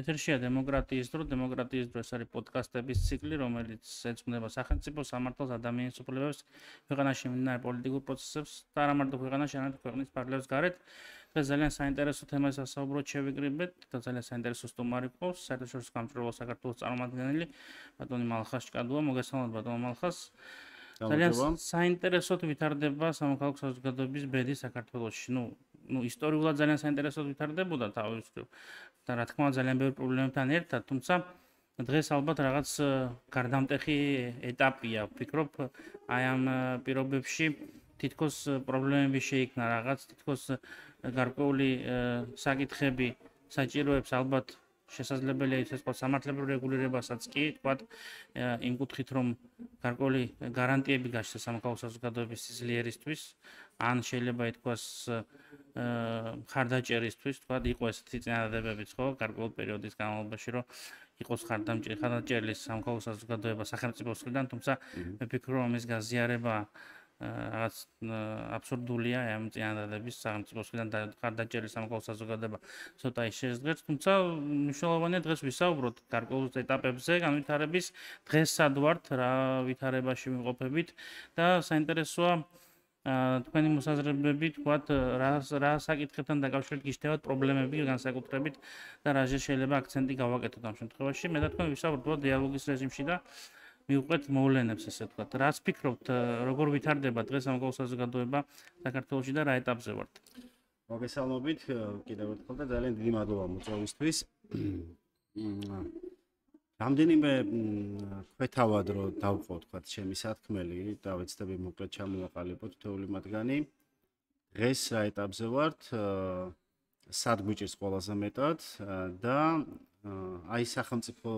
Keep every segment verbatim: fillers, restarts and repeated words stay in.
ეთერშია დემოკრატიის დრო, დემოკრატიის დრო ეს არის პოდკასტების ციკლი, რომელიც ეძღვნება სახელმწიფო სამართალს, ადამიანის უფლებებს, ქვეყანაში მიმდინარე პოლიტიკურ პროცესებს და არა მარტო ქვეყანაში, არამედ ქვეყნის ფარგლებს გარეთ. დღეს ძალიან საინტერესო თემას ასაუბროთ შევიკრიბეთ და ძალიან საინტერესო სტუმარი ყავს, საერთაშორისო გამჭვირვალო საქართველოს წარმომადგენელი ბატონი მალხას ჭკადუა. მოგესალმებით ბატონ მალხას. ძალიან საინტერესოდ ვითარდება სამოქალაქო საზოგადოების ბედი საქართველოში. ნუ ну ისტორიულად ძალიან საინტერესოდ ვითარდებოდა თავის და რა თქმა უნდა ძალიან ბევრი პრობლემებთან ერთად, თუმცა დღეს ალბათ რაღაც გარდამტეხი ეტაპია. ვფიქრობ, აი ამ პირობებში თითქოს პრობლემები შეიქმნა, რაღაც თითქოს გარკვეული საკითხები საჭიროებს ალბათ შესაძლებელია ის თქვა სამართლებრივ რეგულირებასაც კი, თქვა იმ კუთხით, რომ გარკვეული გარანტიები გაჩნდეს სამოქალაქო საზოგადოების სიძლიერისთვის, ან შეიძლება ითქვას ხარდაჭერისთვის, თქვა იყო ესეთი წინადადებებიც, ხო, გარკვეული პერიოდის განმავლობაში, რომ იყოს ხარდამჭერი, ხარდაჭერილი სამოქალაქო საზოგადოება სახელმწიფოს მხრიდან, თუმცა მე ვფიქრობ, რომ ეს გაზიარება რაღაც აბსურდულია ამ წინადადების სახელმწიფოს მხრიდან ხარდაჭერილი სამოქალაქო საზოგადოება ცოტა ის შეძლებს, თუმცა მნიშვნელოვანია დღეს ვისაუბროთ გარკვეულ ეტაპებზე განვითარების, დღეს სად ვართ, რა ვითარებაში ვიმყოფებით და საინტერესოა თქვენი მოსაზრებები, თქვათ, რა რა საკითხებთან დაკავშირებით გიშთევათ პრობლემები განსაკუთრებით და რა შეიძლება აქცენტი გავაკეთოთ ამ შემთხვევაში. მე და თქვენ ვისაუბროთ დიალოგის რეჟიმში და მივყვეთ მოვლენებს, ესე ვთქვათ. რას ფიქრობთ, როგორ ვითარდება დღეს სამოქალაქო საზოგადოება საქართველოში და რა ეტაპზე ვართ? მოგესალმებით კიდევ ერთხელ და ძალიან დიდი მადლობა მოწვევისთვის. რამდენიმე ქვეთავად რო დავყო, თქვათ, ჩემი სათქმელი და ვეცდები მოკლედ ჩამოვაყალიბოთ თითოეული მათგანი. დღეს რა ეტაპზე ვართ, სად გვიჭირს ყველაზე მეტად და აი სახელმწიფო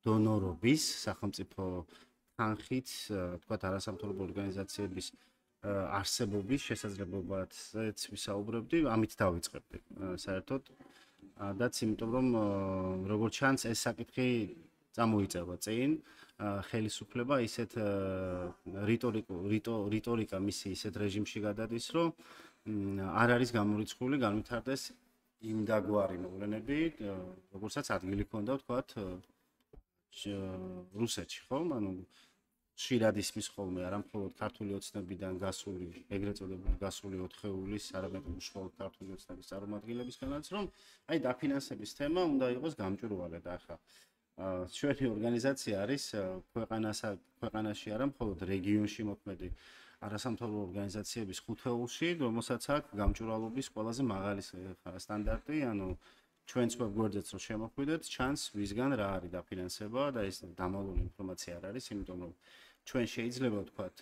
დონორობის, სახელმწიფო თანხით, თქვათ, არასამთავრობო ორგანიზაციების არსებობის შესაძლებლობაზეც ვისაუბრებდი, ამით დავიწყებდი საერთოდ. დაც იმიტომ რომ როგორც ჩანს ეს საკითხი წამოიწევა წინ, ხელისუფლება ისეთ რიტორიკა მისი ისეთ რეჟიმში გადადის, რომ არ არის გამორიცხული განვითარდეს იმ დაგვარი მოვლენები, როგორცაც ადგილი ქონდა, ვთქვათ, რუსეთში, ხო? ანუ ხშირად ისმის ხოლმე არა მხოლოდ ქართული ოცნებიდან გასული, ეგრეთ წოდებული გასული ოთხეულის, არამედ უშუალოდ ქართული ოცნების წარმომადგენლებისგანაც, რომ აი დაფინანსების თემა უნდა იყოს გამჭვირვალე და ახლა ჩვენი ორგანიზაცია არის ქვეყანაში არა მხოლოდ რეგიონში მოქმედი არასამთავრობო ორგანიზაციების ხუთეულში, რომელსაც აქვს გამჭვირვალობის ყველაზე მაღალი სტანდარტი, ანუ ჩვენც ვებგვერდზეც რომ შემოხვიდეთ, ჩანს ვისგან რა არის დაფინანსება და ეს დამალული ინფორმაცია არ არის, იმიტომ რომ ჩვენ შეიძლება ვთქვათ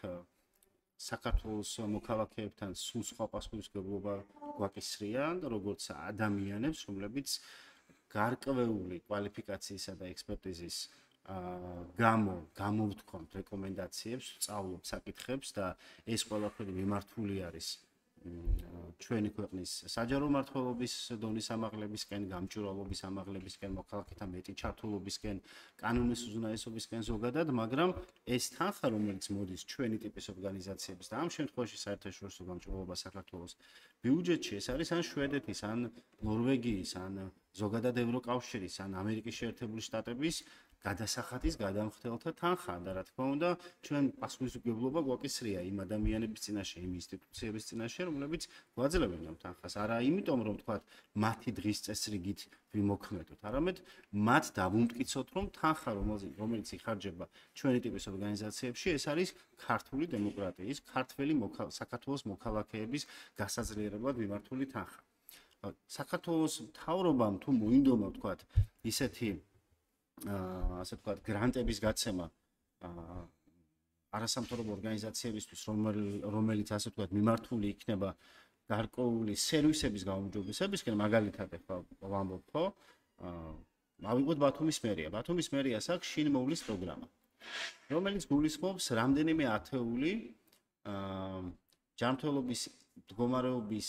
საქართველოს მოქალაქეებთან სულ სხვა პასუხისმგებლობა გვაკისრია, როგორც ადამიანებს, რომლებიც გარკვეული კვალიფიკაციისა და ექსპერტიზის გამო გამოვთქვამთ რეკომენდაციებს, სწავლობთ საკითხებს და ეს ყველაფერი მიმართული არის ჩვენი ქვეყნის საჯარო მმართველობის დონის ამაღლებისკენ, გამჭვირვალობის ამაღლებისკენ, მოქალაქეთა მეტი ჩართულობისკენ, კანონის უზრუნველყოფისკენ ზოგადად, მაგრამ ეს თანხა, რომელიც მოდის ჩვენი ტიპის ორგანიზაციების და ამ შემთხვევაში საერთაშორისო გამჭვირვალობა საქართველოს ბიუჯეტში, ეს არის ან შვედეთის, ან ნორვეგიის, ან ზოგადად ევროკავშირის, ან ამერიკის შეერთებული შტატების გადასახადის გადამხდელთა თანხა და რა თქმა უნდა ჩვენ პასუხისმგებლობა გვაკისრია იმ ადამიანების წინაშე, იმ ინსტიტუციების წინაშე, რომლებიც გვაძლევენ ამ თანხას. არა იმიტომ რომ თქვათ მათი დღის წესრიგით ვიმოქმედოთ, არამედ მათ დავუმტკიცოთ რომ თანხა რომელიც იხარჯება ჩვენი ტიპის ორგანიზაციებში, ეს არის ქართული დემოკრატიის, ქართველი საქართველოს მოქალაქეების გასაძლიერებლად მიმართული თანხა. საქართველოს მთავრობამ თუ მოინდომა თქვათ ისეთი ასე ვთქვათ, გრანტების გაცემა არასამთავრობო ორგანიზაციებისთვის, რომელიც ასე ვთქვათ, მიმართული იქნება გარკვეული სერვისების გაუმჯობესებისკენ, მაგალითად ახლა ვამბობ, ხო? ავიღოთ ბათუმის მერია. ბათუმის მერიას აქვს შინ მოვლის პროგრამა, რომელიც გულისხმობს რამდენიმე ათეული ჯანმრთელობის მდგომარეობის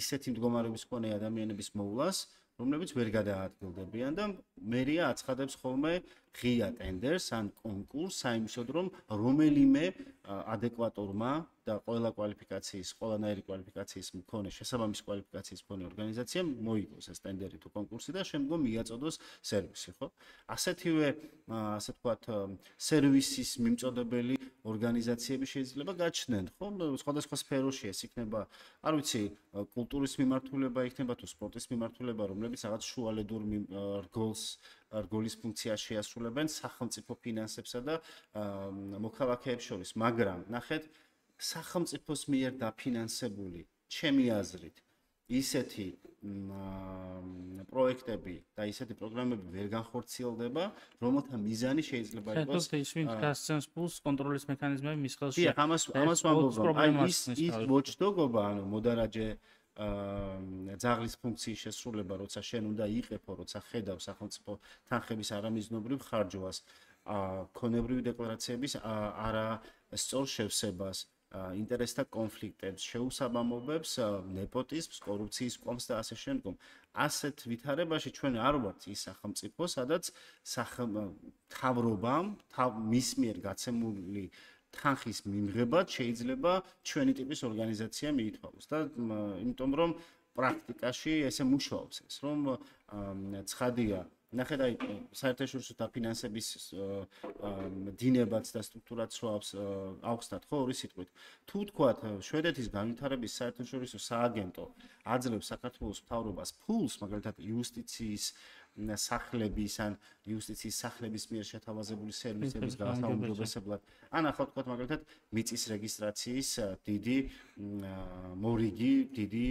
ისეთი მდგომარეობის მქონე ადამიანების მოვლას, რომლებიც ვერ გადაადგილდებიან და მერია აცხადებს ხოლმე ღია ტენდერს ან კონკურსს საიმისოდ, რომ რომელიმე ადეკვატორმა და ყველა კვალიფიკაციის, ყველანაირი კვალიფიკაციის მქონე, შესაბამისი კვალიფიკაციის მქონე ორგანიზაციამ მოიგოს ეს ტენდერი თუ კონკურსი და შემდგომ მიაწოდოს სერვისი, ხო? ასეთივე, ასე ვთქვათ, სერვისის მიმწოდებელი ორგანიზაციები შეიძლება გაჩნდნენ, ხო? სხვადასხვა სფეროში ეს იქნება, არ ვიცი, კულტურის მიმართულება იქნება თუ სპორტის მიმართულება, რომლებიც რაღაც შუალედურ რგოლს რგოლის ფუნქციას შეასრულებენ სახელმწიფო ფინანსებსა და მოქალაქეებს შორის, მაგრამ ნახეთ, სახელმწიფოს მიერ დაფინანსებული, ჩემი აზრით, ისეთი პროექტები და ისეთი პროგრამები ვერ განხორციელდება, რომელთა მიზანი შეიძლება იყოს ეს ის ვინც გასცემს ფულს კონტროლის მექანიზმები მის ხელში. დიახ, ამას ამას ვამბობ, რომ აი ის ის watchdog-ობა, ანუ მოდარაჯე ძაღლის ფუნქციის შესრულება, როცა შენ უნდა იყეფო, როცა ხედავ სახელმწიფო თანხების არამიზნობრივ ხარჯვას, ქონებრივი დეკლარაციების არა სწორ შევსებას, ინტერესთა კონფლიქტებს, შეუსაბამობებს, ნეპოტიზმს, კორუფციის ყომს და ასე შემდგომ. ასეთ ვითარებაში ჩვენ არ ვართ ის სახელმწიფო, სადაც მთავრობამ მის მიერ გაცემული თანხის მიმღებად შეიძლება ჩვენი ტიპის ორგანიზაცია მიითვალოს და იმიტომ რომ პრაქტიკაში ესე მუშაობს ეს, რომ ცხადია ნახეთ აი საერთაშორისო დაფინანსების დინებაც და სტრუქტურაც როავს ავხსნათ ხო ორი სიტყვით. თუ თქვათ შვედეთის განვითარების საერთაშორისო სააგენტო აძლევს საქართველოს მთავრობას ფულს, მაგალითად იუსტიციის სახლების ან იუსტიციის სახლების მიერ შეთავაზებული სერვისების გაუმჯობესებლად, ან ახლა თქვათ მაგალითად მიწის რეგისტრაციის დიდი მორიგი, დიდი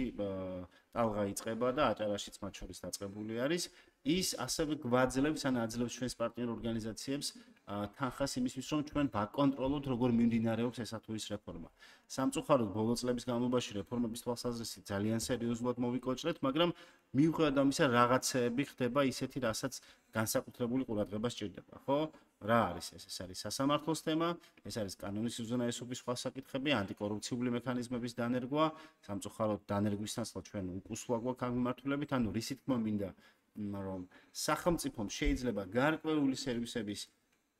ტალღა იწყება და აჭარაშიც მათ შორის დაწყებული არის. ის ასევე გვაძლევს ან აძლევს ჩვენს პარტნიორ ორგანიზაციებს თანხას იმისთვის, რომ ჩვენ ვაკონტროლოთ, როგორ მიმდინარეობს ესა თუ ის რეფორმა. სამწუხაროდ ბოლო წლების განმავლობაში რეფორმების თვალსაზრისით ძალიან სერიოზულად მოვიკოჭრეთ, მაგრამ მიუხედავად ამისა, რაღაცეები ხდება ისეთი, რასაც განსაკუთრებული ყურადღება სჭირდება, ხო? რა არის ეს? ეს არის სასამართლოს თემა, ეს არის კანონის უზენაესობის სხვა საკითხები, ანტიკორუფციული მექანიზმების დანერგვა, სამწუხაროდ დანერგვისთანაც ჩვენ უკუსლა გვაქვს ამ მიმართულებით, ანუ რისი თქმა მინდა რომ სახელმწიფომ შეიძლება გარკვეული სერვისების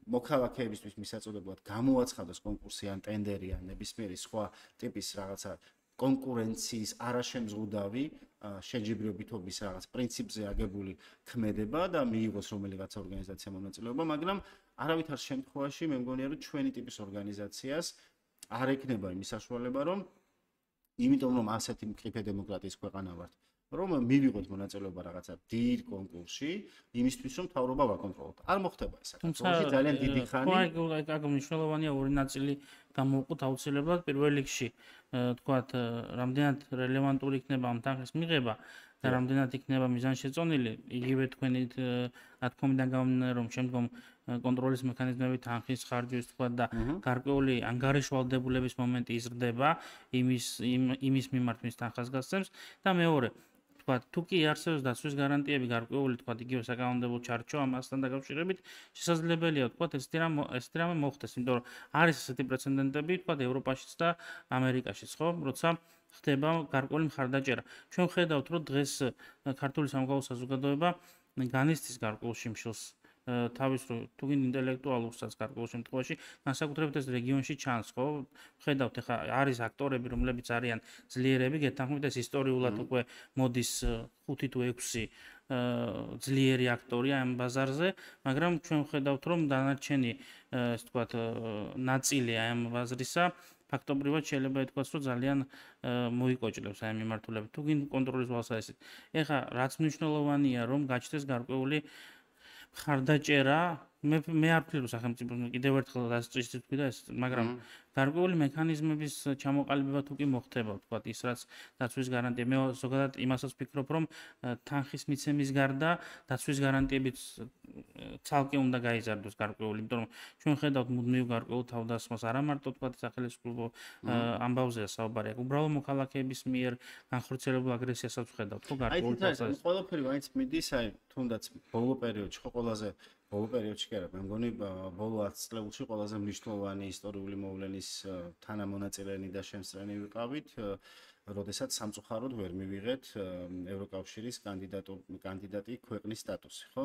მოქალაქეებისთვის მისაწოდებლად გამოაცხადოს კონკურსი ან ტენდერი ან ნებისმიერი სხვა ტიპის რაღაცა კონკურენციის არაშემზღუდავი შეჯიბრებითობის რაღაც პრინციპზე აგებული ქმედება და მიიღოს რომელიღაც ორგანიზაცია მონაწილეობა, მაგრამ არავითარ შემთხვევაში მე მგონია რომ ჩვენი ტიპის ორგანიზაციას არ ექნება იმის საშუალება რომ იმიტომ რომ ასეთი მყიფე დემოკრატიის ქვეყანა ვართ რომ მივიღოთ მონაწილეობა რაღაცა დიდ კონკურსში, იმისთვის რომ მთავრობა ვაკონტროლოთ. არ მოხდება ეს საქართველოში ძალიან დიდი ხანი. ხო, აი, აქ მნიშვნელოვანია ორი ნაწილი გამოვყოთ აუცილებლად. პირველ რიგში, თქვათ, რამდენად რელევანტური იქნება ამ თანხის მიღება და რამდენად იქნება მიზანშეწონილი, იგივე თქვენი ნათქვამიდან გამომდინარე, რომ შემდგომ კონტროლის მექანიზმები თანხის ხარჯვის თქვათ და გარკვეული ანგარიშვალდებულების მომენტი იზრდება იმის იმის მიმართ მის თანხას გასცემს და მეორე თქვათ, თუ კი არსებობს დაცვის გარანტიები გარკვეული, თქვათ, იგივე საკანონმდებლო ჩარჩო ამასთან დაკავშირებით, შესაძლებელია, თქვათ, ესეთი რამ ესეთი რამე მოხდეს, იმიტომ რომ არის ესეთი პრეცედენტები, თქვათ, ევროპაშიც და ამერიკაშიც, ხო, როცა ხდება გარკვეული მხარდაჭერა. ჩვენ ხედავთ, რომ დღეს ქართული სამოქალაქო საზოგადოება განიცდის გარკვეულ შიმშილს თავის თუ გინ ინტელექტუალურსაც გარკვეულ შემთხვევაში, განსაკუთრებით ეს რეგიონში ჩანს, ხო? ხედავთ, ეხა არის აქტორები, რომლებიც არიან ძლიერები, გეთანხმებით ეს ისტორიულად უკვე მოდის ხუთი თუ ექვსი ძლიერი აქტორია ამ ბაზარზე, მაგრამ ჩვენ ხედავთ, რომ დანარჩენი, ეს თქვათ, ნაწილი ამ ბაზრისა ფაქტობრივად შეიძლება ითქვას, რომ ძალიან მოიკოჭლებს აი მიმართულებით. თუ გინ კონტროლის ვალსაესით. ეხა რაც მნიშვნელოვანია, რომ გაჩნდეს გარკვეული მხარდაჭერა, მე მე არ ვფიქრობ სახელმწიფოს კიდევ ერთხელ დასწრით თქვი და ეს, მაგრამ გარკვეული მექანიზმების ჩამოყალიბება თუ კი მოხდება, თქვათ, ის რაც დაცვის გარანტია, მე ზოგადად იმასაც ვფიქრობ, რომ თანხის მიცემის გარდა დაცვის გარანტიებიც ცალკე უნდა გაიზარდოს გარკვეული, იმიტომ რომ ჩვენ ხედავთ მუდმივ გარკვეულ თავდასხმას, არა მარტო თქვათ სახელმწიფო ამბავზეა საუბარი, აქ უბრალოდ მოქალაქეების მიერ განხორციელებულ აგრესიასაც ვხედავთ, ხო, გარკვეულ თავდასხმას. აი, ყველაფერი მაინც მიდის, აი, თუნდაც ბოლო პერიოდში, ხო, ყველაზე ბოლო პერიოდში კი არა, მე მგონი ბოლო ათი წლებში ყველაზე მნიშვნელოვანი ისტორიული მოვლენის თანამონაწილენი და შემსწრენი ვიყავით. როდესაც სამწუხაროდ ვერ მივიღეთ ევროკავშირის კანდიდატო კანდიდატი ქვეყნის სტატუსი, ხო?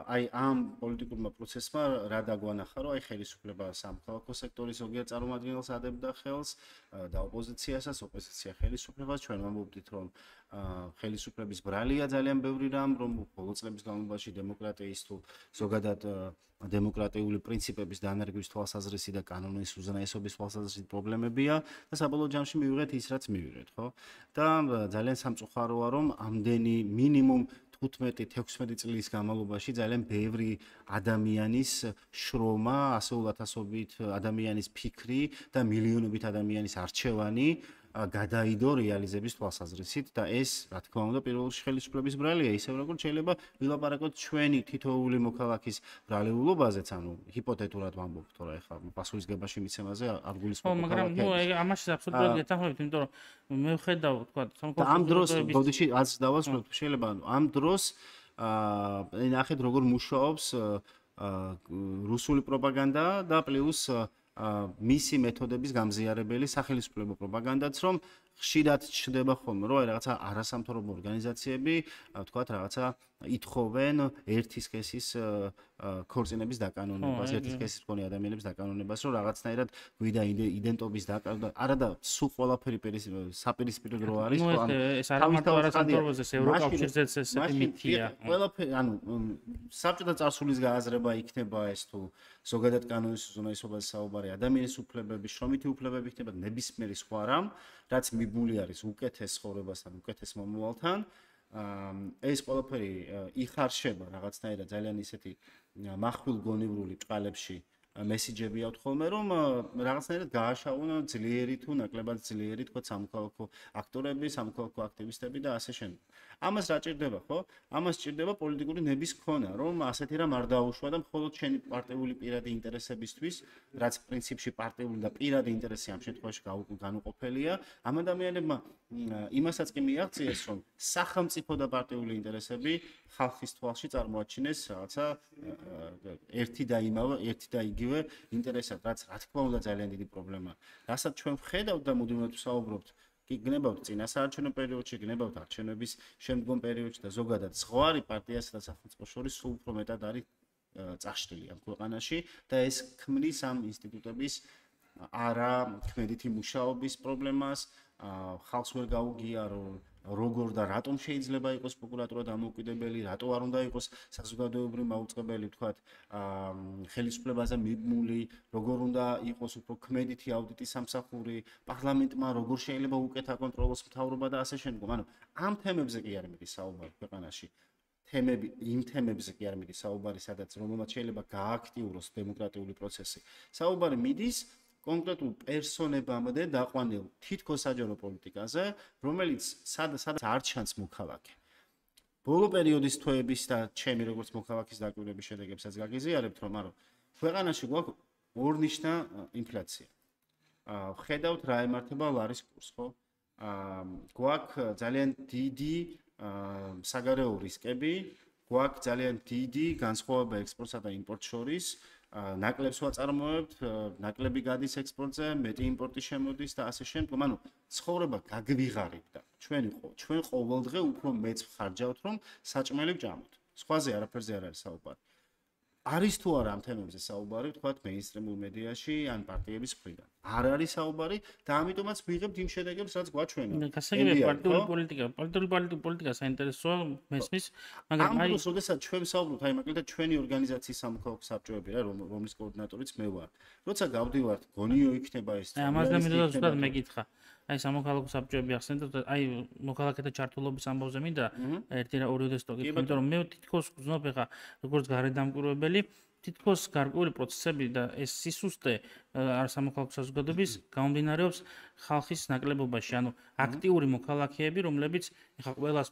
აი ამ პოლიტიკურმა პროცესმა რა დაგვანახა, რომ აი ხელისუფლება სამოქალაქო სექტორის ზოგიერთ წარმომადგენელს ადებდა ხელს და ოპოზიციასაც, ოპოზიცია ხელისუფლებას. ჩვენ ვამბობდით, რომ ხელისუფლების ბრალია ძალიან ბევრი რამ, რომ ბოლო წლების განმავლობაში დემოკრატიის თუ ზოგადად დემოკრატიული პრინციპების დანერგვის თვალსაზრისი და კანონის უზენაესობის თვალსაზრისით პრობლემებია და საბოლოო ჯამში მივიღეთ ის, რაც მივიღეთ, ხო? და ძალიან სამწუხაროა, რომ ამდენი მინიმუმ თხუთმეტი თექვსმეტი წლის განმავლობაში ძალიან ბევრი ადამიანის შრომა, ასეულათასობით ადამიანის ფიქრი და მილიონობით ადამიანის არჩევანი გადაიდო რეალიზების თვალსაზრისით და ეს, რა თქმა უნდა, პირველ რიგში ხელისუფლების ბრალია, ისევ როგორც შეიძლება ვილაპარაკოთ ჩვენი თითოეული მოქალაქის ბრალეულობაზეც, ანუ ჰიპოთეტურად ვამბობ, თორე ახლა პასუხისგებაში მიცემაზე არ გულისხმობ. ხო, მაგრამ ნუ ამაში აბსოლუტურად გეთანხმებით, იმიტომ რომ მე ვხედავ, თქვა, სამოქალაქო ამ დროს ბოდიში რაც დავასრულებ, შეიძლება ამ დროს აა ნახეთ როგორ მუშაობს რუსული პროპაგანდა და პლუს მისი მეთოდების გამზიარებელი სახელმწიფო პროპაგანდაც, რომ ხშირად ჩნდება ხოლმე, რომ რაღაცა არასამთავრობო ორგანიზაციები, თქვათ, რაღაცა ითხოვენ ერთის სქესის ქორწინების დაკანონებას, ერთის სქესის მქონე ადამიანების დაკანონებას, რომ რაღაცნაირად გვიდა იდენტობის დაკანა, არა და სულ ყველაფერი საპირისპირო დრო არის, ხო, ანუ ეს არა მარტო არასამთავრობოზე, ევროკავშირზეც ესეთი მითია. ყველაფერი, ანუ საბჭოთა წარსულის გააზრება იქნება ეს თუ ზოგადად კანონის უზენაესობაზე საუბარი, ადამიანის უფლებების, შრომითი უფლებები იქნება ნებისმიერი სხვა რამ, რაც მიბმული არის უკეთეს ცხოვრებასთან, უკეთეს მომავალთან. ეს ყველაფერი იხარშება რაღაცნაირად ძალიან ისეთი מחვილგონივრული ბჭყალებში მესიჯები აქვთ ხოლმე, რომ რაღაცნაირად გააშაუნა ძლიერი თუ ნაკლებად ძლიერი, თქვა, სამოქალაქო აქტორები, სამოქალაქო აქტივისტები და ასე შემდეგ. ამას რა ჭირდება, ხო? ამას ჭირდება პოლიტიკური ნების ქონა, რომ ასეთი რამ არ დაუშვა და მხოლოდ შენი პარტიული პირადი ინტერესებისთვის, რაც პრინციპში პარტიული და პირადი ინტერესი ამ შემთხვევაში განუყოფელია, ამ ადამიანებმა იმასაც კი მიაღწიეს, რომ სახელმწიფო და პარტიული ინტერესები ხალხის თვალში წარმოაჩინეს რაღაცა ერთი და იმავე, ერთი და იგივე ინტერესად, რაც რა თქმა უნდა ძალიან დიდი პრობლემაა. რასაც ჩვენ ვხედავთ და მუდმივად ვსაუბრობთ, კი გნებავთ წინა საარჩევნო პერიოდში, გნებავთ არჩევნების შემდგომ პერიოდში და ზოგადად ზღვარი პარტიასა და სახელმწიფოს შორის სულ უფრო მეტად არის წაშლილი ამ ქვეყანაში და ეს ქმნის ამ ინსტიტუტების არა ქმედითი მუშაობის პრობლემას, ხალხს ვერ გაუგია, რომ როგორ და რატომ შეიძლება იყოს პროკურატურა დამოუკიდებელი, რატო არ უნდა იყოს საზოგადოებრივი მაუწყებელი, თქვათ, ხელისუფლებაზე მიბმული, როგორ უნდა იყოს უფრო ქმედითი აუდიტის სამსახური, პარლამენტმა როგორ შეიძლება უკეთ აკონტროლოს მთავრობა და ასე შემდგომ. ანუ ამ თემებზე კი არ მიდის საუბარი ქვეყანაში. თემები, იმ თემებზე კი არ მიდის საუბარი, სადაც რომელმაც შეიძლება გააქტიუროს დემოკრატიული პროცესი. საუბარი მიდის კონკრეტულ პერსონებამდე დაყვანილ თითქოს საჯარო პოლიტიკაზე, რომელიც სადაც არ ჩანს მოქალაქე. ბოლო პერიოდის თვეების და ჩემი როგორც მოქალაქის დაკვირვების შედეგებსაც გაგიზიარებთ, რომ არო ქვეყანაში გვაქვს ორნიშნა ინფლაცია. ვხედავთ რა ემართება ლარის კურსს, ხო? გვაქვს ძალიან დიდი საგარეო რისკები, გვაქვს ძალიან დიდი განსხვავება ექსპორტსა და იმპორტს შორის. ნაკლებს ვაწარმოებთ, ნაკლები გადის ექსპორტზე, მეტი იმპორტი შემოდის და ასე შემდგომ. ანუ ცხოვრება გაგვიღარებდა. ჩვენ ჩვენ ყოველდღე უფრო მეც ხარჯავთ, რომ საჭმელი ვჭამოთ. სხვაზე არაფერზე არ არის საუბარი. არის თუ არა ამ თემებზე საუბარი, თქვათ, მეინსტრიმულ მედიაში ან პარტიების მხრიდან. არ არის საუბარი და ამიტომაც ვიღებთ იმ შედეგებს, რაც გვაჩვენა. გასაგებია პარტიული პოლიტიკა, პარტიული პოლიტიკა საინტერესოა მესმის, მაგრამ აი ამ როდესაც ჩვენ ვსაუბრობთ, აი მაგალითად ჩვენი ორგანიზაციის სამოქალაქო საბჭოები რა, რომლის კოორდინატორიც მე ვარ. როცა გავდივართ, გონიო იქნება ეს. აი ამას და მინდა ზუსტად მეკითხა. აი სამოქალაქო საბჭოები ახსენეთ, აი მოქალაქეთა ჩართულობის ამბავზე მინდა ერთი რა ორი ოდესტო გითხო, იმიტომ რომ მე თითქოს გზნობ ხა როგორც გარედამკვირვებელი, თითქოს გარკვეული პროცესები და ეს სისუსტე არ სამოქალაქო საზოგადოების გამომდინარეობს ხალხის ნაკლებობაში, ანუ აქტიური მოქალაქეები, რომლებიც ხა ყველას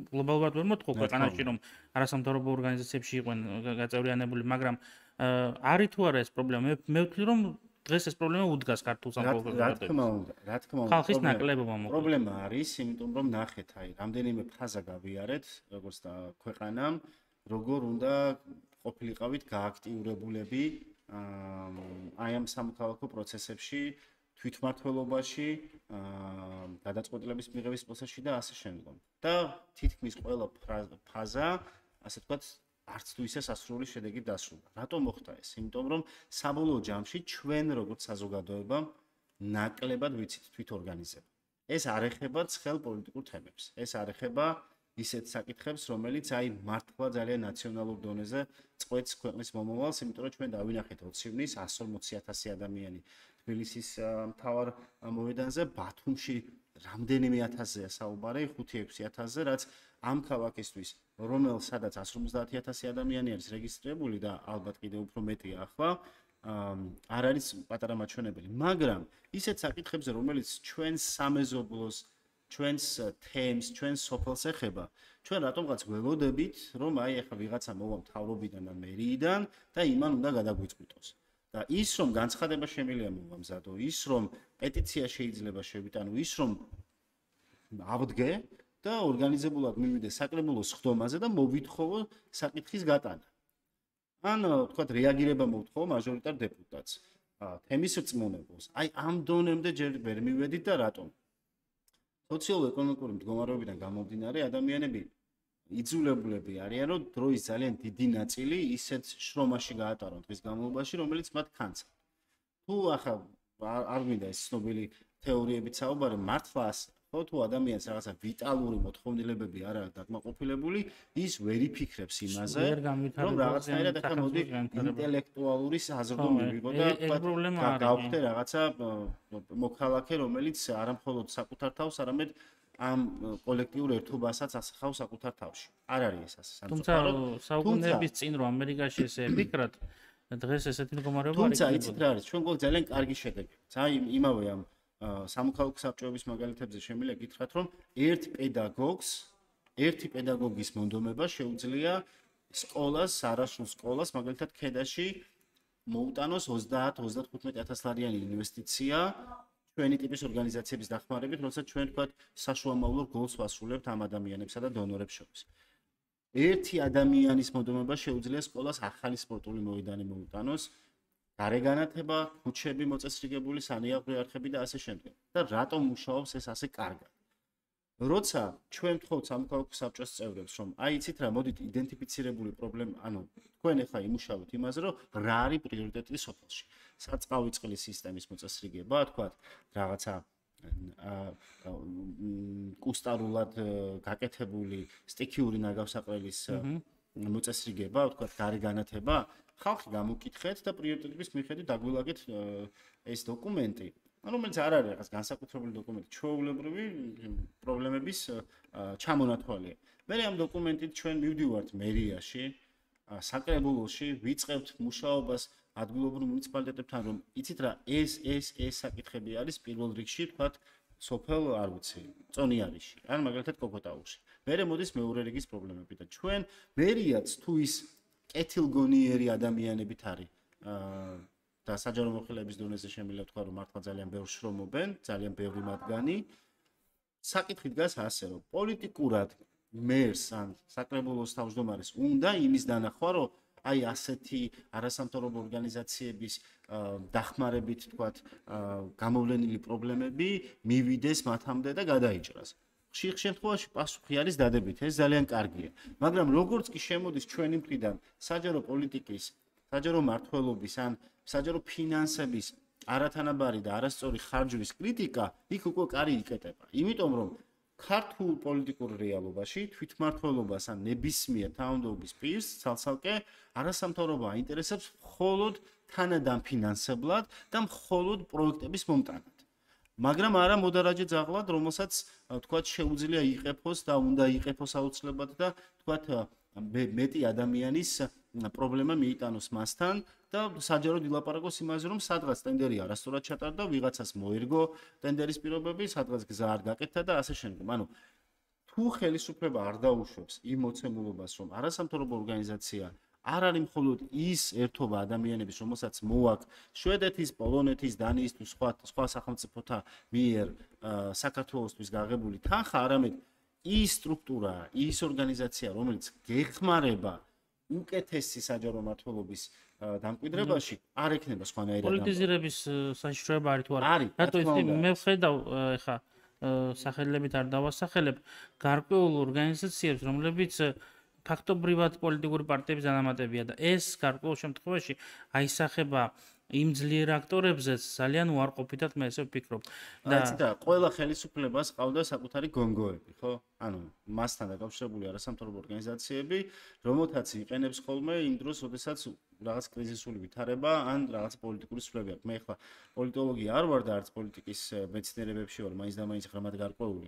გლობალურად ვერ მოთხოვ ქვეყანაში, რომ არასამთავრობო ორგანიზაციებში იყვნენ გაწევრიანებული, მაგრამ არის თუ არა ეს პრობლემა, მე ვთვლი რომ დღეს ეს პრობლემა უდგას ქართულ სამოქალაქო რა თქმა უნდა, რა თქმა უნდა. ხალხის ნაკლებობა მოკლედ. პრობლემა არის, იმიტომ რომ ნახეთ, აი, რამდენიმე ფაზა გავიარეთ, როგორც და ქვეყანამ, როგორ უნდა ყოფილიყავით გააქტიურებულები აი ამ სამოქალაქო პროცესებში, თვითმმართველობაში, გადაწყვეტილების მიღების პროცესში და ასე შემდგომ. და თითქმის ყველა ფაზა, ასე ვთქვათ, არც თუ ისე სასრული შედეგით დასრულდა. რატომ მოხდა ეს? იმიტომ რომ საბოლოო ჯამში ჩვენ როგორც საზოგადოება ნაკლებად ვიცით თვითორგანიზება. ეს არ ეხება ცხელ პოლიტიკურ თემებს. ეს არ ეხება ისეთ საკითხებს, რომელიც აი მართლა ძალიან ნაციონალურ დონეზე წყვეტს ქვეყნის მომავალს, იმიტომ რომ ჩვენ დავინახეთ ოცი ივნის εκατს ორმოცი ათასი ადამიანი თბილისის მთავარ მოედანზე, ბათუმში რამდენიმე ათასზეა საუბარი, ხუთი ექვსი ათასზე, რაც ამ ქალაქისთვის, რომელ სადაც εκατს ორმოცდაათი ათასი ადამიანი არის რეგისტრირებული და ალბათ კიდევ უფრო მეტია ახლა, არ არის პატარა მაჩვენებელი, მაგრამ ისეთ საკითხებზე, რომელიც ჩვენს სამეზობლოს, ჩვენს თემს, ჩვენს სოფელს ეხება, ჩვენ რატომღაც ველოდებით, რომ აი ახლა ვიღაცა მოვა მთავრობიდან და მერიიდან და იმან უნდა გადაგვიწყვიტოს. და ის რომ განცხადება შემიძლია მოვამზადო, ის რომ პეტიცია შეიძლება შევიტანო, ის რომ ავდგე და ორგანიზებულად მივიდე საკრებულოს ხდომაზე და მოვითხოვო საკითხის გატანა. ან თქვათ რეაგირება მოვთხოვო მაჟორიტარ დეპუტატს. თემის რწმუნებულს. აი ამ დონემდე ჯერ ვერ მივედით და რატომ? სოციალურ-ეკონომიკური მდგომარეობიდან გამომდინარე ადამიანები იძულებულები არიან, რომ დროის ძალიან დიდი ნაწილი ისეთ შრომაში გაატარონ დღის განმავლობაში, რომელიც მათ ქანცა. თუ ახლა არ გვინდა ეს ცნობილი თეორიებით საუბარი, მართლა ხო თუ ადამიანს რაღაცა ვიტალური მოთხოვნილებები არ აქვს დაკმაყოფილებული, ის ვერ იფიქრებს იმაზე, რომ რაღაცნაირად ახლა მოდი ინტელექტუალური საზრდო მივიღო და გავხდე რაღაცა მოქალაქე, რომელიც არა მხოლოდ საკუთარ თავს, არამედ ამ კოლექტიურ ერთობასაც ასახავს საკუთარ თავში. არ არის ეს ასე. თუმცა საუკუნეების წინ რომ ამერიკაში ესე ეკრათ, დღეს ესეთი მდგომარეობა არის. თუმცა იცით რა არის, ჩვენ გვაქვს ძალიან კარგი შედეგი. აი იმავე ამ სამოქალაქო საბჭოების მაგალითებზე შემიძლია გითხრათ, რომ ერთ პედაგოგს, ერთი პედაგოგის მონდომება შეუძლია სკოლას, არასრულ სკოლას, მაგალითად ქედაში მოუტანოს ოცდაათ ოცდათხუთმეტი ათასლარიანი ინვესტიცია ჩვენი ტიპის ორგანიზაციების დახმარებით, როცა ჩვენ თქვათ საშუალო გოლს ვასრულებთ ამ ადამიანებსა და დონორებს შორის. ერთი ადამიანის მონდომება შეუძლია სკოლას ახალი სპორტული მოედანი მოუტანოს, გარეგანათება, ქუჩები მოწესრიგებული, სანიაღვრე არხები და ასე შემდეგ. და რატომ მუშაობს ეს ასე კარგად? როცა ჩვენ ვთხოვთ სამოქალაქო საბჭოს წევრებს, რომ აი იცით რა, მოდით იდენტიფიცირებული პრობლემა, ანუ თქვენ ახლა იმუშავოთ იმაზე, რომ რა არის პრიორიტეტი სოფელში. სარწყავი წყლის სისტემის მოწესრიგება, თქვათ, რაღაცა კუსტარულად გაკეთებული სტიქიური ნაგავსაყრელის მოწესრიგება, თქვათ, გარეგანათება, ხალხი გამოკითხეთ და პრიორიტეტების მიხედვით დაგვილაგეთ ეს დოკუმენტი, რომელიც არ არის რაღაც განსაკუთრებული დოკუმენტი, ჩვეულებრივი პრობლემების ჩამონათვალია. მე ამ დოკუმენტით ჩვენ მივდივართ მერიაში, საკრებულოში, ვიწყებთ მუშაობას ადგილობრივ მუნიციპალიტეტებთან, რომ იცით რა, ეს ეს ეს საკითხები არის პირველ რიგში, თქვათ, სოფელ არ ვიცი, წონიარიში, ან მაგალითად კოკოტაუში. მერე მოდის მეორე რიგის პრობლემები და ჩვენ მერიაც თუ ის კეთილგონიერი ადამიანებით არის და საჯარო მოხელეების დონეზე შემიძლია თქვა, რომ მართლა ძალიან ბევრ შრომობენ, ძალიან ბევრი მათგანი. საკითხი დგას ასე, რომ პოლიტიკურად მერს ან საკრებულოს თავმჯდომარეს უნდა იმის დანახვა, რომ აი ასეთი არასამთავრობო ორგანიზაციების დახმარებით, თქვათ, გამოვლენილი პრობლემები მივიდეს მათამდე და გადაიჭრას. ხშირ შემთხვევაში პასუხი არის დადებით, ეს ძალიან კარგია. მაგრამ როგორც კი შემოდის ჩვენი მხრიდან საჯარო პოლიტიკის, საჯარო მმართველობის ან საჯარო ფინანსების არათანაბარი და არასწორი ხარჯვის კრიტიკა, იქ უკვე კარი იკეტება. იმიტომ რომ ქართულ პოლიტიკურ რეალობაში თვითმმართველობას ან ნებისმიერ თანამდებობის პირს ცალ-ცალკე არასამთავრობო აინტერესებს მხოლოდ თანადამფინანსებლად და მხოლოდ პროექტების მომტანად. მაგრამ არა მოდარაჯე ძაღლად, რომელსაც თქვათ შეუძლია იყეფოს და უნდა იყეფოს აუცილებლად და თქვათ მეტი ადამიანის პრობლემა მიიტანოს მასთან და საჯაროდ ილაპარაკოს იმაზე, რომ სადღაც ტენდერი არასწორად ჩატარდა, ვიღაცას მოერგო ტენდერის პირობები, სადღაც გზა არ გაკეთდა და ასე შემდეგ. ანუ თუ ხელისუფლება არ დაუშვებს იმ მოცემულობას, რომ არასამთავრობო ორგანიზაცია არ არის მხოლოდ ის ერთობა ადამიანების, რომელსაც მოაქვს შვედეთის, პოლონეთის, დანიის თუ სხვა სხვა სახელმწიფოთა მიერ საქართველოსთვის გაღებული თანხა, არამედ ის სტრუქტურა, ის ორგანიზაცია, რომელიც გეხმარება უკეთესი საჯარო მმართველობის დამკვიდრებაში არ ექნება სხვანაირად. პოლიტიზირების საშიშროება არის თუ არა? არის. რატო ის მე ვხედავ ეხა სახელებით არ დავასახელებ გარკვეულ ორგანიზაციებს, რომლებიც ფაქტობრივად პოლიტიკური პარტიების დანამატებია და ეს გარკვეულ შემთხვევაში აისახება იმ ძლიერ აქტორებზეც ძალიან უარყოფითად მე ესე ვფიქრობ. და და ყველა ხელისუფლებას ყავდა საკუთარი გონგოები, ხო? ანუ მასთან დაკავშირებული არასამთავრობო ორგანიზაციები, რომელთაც იყენებს ხოლმე იმ დროს, როდესაც რაღაც კრიზისული ვითარება ან რაღაც პოლიტიკური სვლები აქვს. მე ახლა პოლიტოლოგია არ ვარ და არც პოლიტიკის მეცნიერებებში ვარ, მაინც და მაინც ღრმად გარკვეული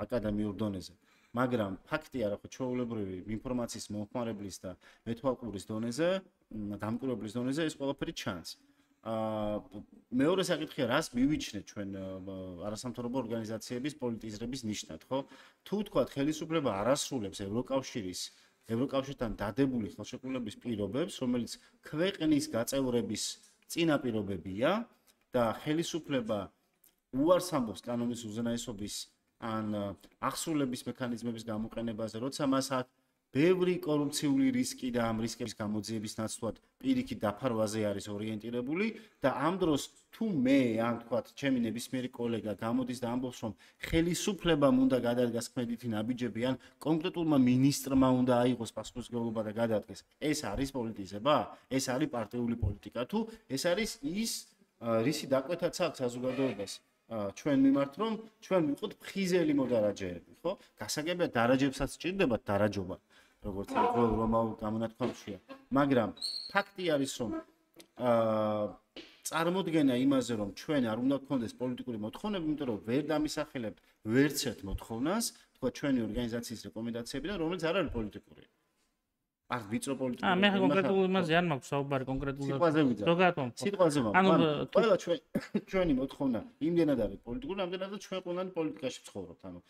აკადემიურ დონეზე. მაგრამ ფაქტია, რა ხო, ჩვეულებრივი ინფორმაციის მომხმარებლის და მეთვალყურის დონეზე, დამკვირვებლის დონეზე ეს ყველაფერი ჩანს. აა მეორე საკითხია, რას მივიჩნეთ ჩვენ არასამთავრობო ორგანიზაციების პოლიტიზრების ნიშნად, ხო? თუ თქვა ხელისუფლება არ ასრულებს ევროკავშირის, ევროკავშირთან დადებული ხელშეკრულების პირობებს, რომელიც ქვეყნის გაწევრების წინაპირობებია და ხელისუფლება უარს ამბობს კანონის უზენაესობის ან აღსრულების მექანიზმების გამოყენებაზე, როცა მას აქვს ბევრი კორუფციული რისკი და ამ რისკების გამოძიების ნაცვლად პირიქით დაფარვაზე არის ორიენტირებული და ამ დროს თუ მე ან თქვათ ჩემი ნებისმიერი კოლეგა გამოდის და ამბობს რომ ხელისუფლებამ უნდა გადადგას ქმედითი ნაბიჯები ან კონკრეტულმა მინისტრმა უნდა აიღოს პასუხისმგებლობა და გადადგეს, ეს არის პოლიტიზება? ეს არის პარტიული პოლიტიკა თუ ეს არის ის რისი დაკვეთაც აქვს საზოგადოებას? ჩვენ მიმართ რომ ჩვენ ვიყოთ ფხიზელი მოდარაჯეები, ხო? გასაგებია დარაჯებსაც სჭირდებათ დარაჯობა, როგორც ყოველ რომაულ გამონათქვამშია. მაგრამ ფაქტი არის რომ აა წარმოდგენა იმაზე რომ ჩვენ არ უნდა გქონდეს პოლიტიკური მოთხოვნები, იმიტომ რომ ვერ დამისახელებთ ვერც ერთ მოთხოვნას, თქვა ჩვენი ორგანიზაციის რეკომენდაციებიდან, რომელიც არ არის პოლიტიკური. არ ვიწრო პოლიტიკური. აა მე კონკრეტულ იმაზე არ მაქვს საუბარი კონკრეტულად. ზოგადად სიტყვაზე მაქვს. ანუ ყველა ჩვენ ჩვენი მოთხოვნა იმდენად არის პოლიტიკური, ამდენადაც ჩვენ ყველანი პოლიტიკაში ვცხოვრობთ. ანუ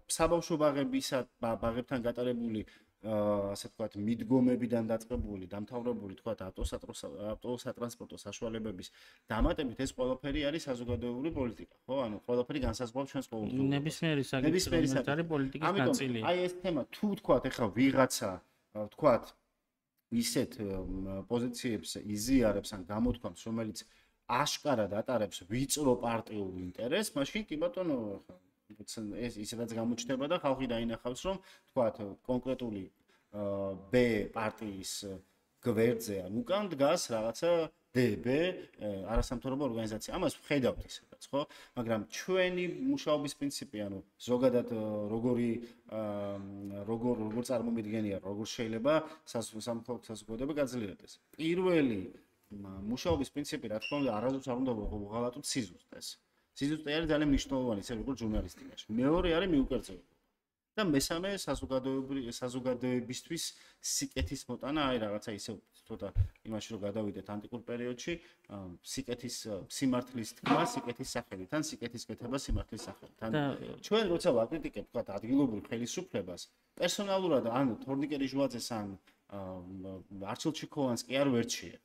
საბავშვო ბაღებისა ბაღებთან გატარებული ასე ვთქვათ მიდგომებიდან დაწყებული, დამთავრებული თქვათ ავტოსატრანსპორტო საშუალებების დამატებით ეს ყველაფერი არის საზოგადოებრივი პოლიტიკა, ხო? ანუ ყველაფერი განსაზღვრავს ჩვენს ყოველდღიურ. ნებისმიერი საკითხი რომელიც არის პოლიტიკის ნაწილი. აი ეს თემა თუ თქვათ ეხლა ვიღაცა თქვათ ისეთ პოზიციებს იზიარებს ან გამოთქვამს, რომელიც აშკარად ატარებს ვიწრო პარტიულ ინტერესს, მაშინ კი ბატონო ეს ისედაც გამოჩნდება და ხალხი დაინახავს, რომ თქვათ კონკრეტული B პარტიის გვერდზე ან უკან დგას რაღაცა D B არასამთავრობო ორგანიზაცია. ამას ვხედავთ ისედაც, ხო? მაგრამ ჩვენი მუშაობის პრინციპი, ანუ ზოგადად როგორი როგორ როგორ წარმომიდგენია, როგორ შეიძლება სამხელო საზოგადოება გაძლიერდეს. პირველი მუშაობის პრინციპი, რა თქმა უნდა, არასდროს არ უნდა ვღალატოთ სიზუსტეს. სიზუსტე არის ძალიან მნიშვნელოვანი, ისე როგორც ჟურნალისტიკაში. მეორე არის მიუკერძოება. და მესამე საზოგადოებისთვის სიკეთის მოტანა, აი რაღაცა ისე ცოტა იმაში რომ გადავიდეთ ანტიკურ პერიოდში, სიკეთის სიმართლის თქმა სიკეთის სახელით, ან სიკეთის კეთება სიმართლის სახელით. ან ჩვენ როცა ვაკრიტიკებთ თქვა ადგილობრივ ხელისუფლებას, პერსონალურად ან თორნიკე ჟუაძეს ან არჩილ ჩიქოვანს კი არ ვერჩიე.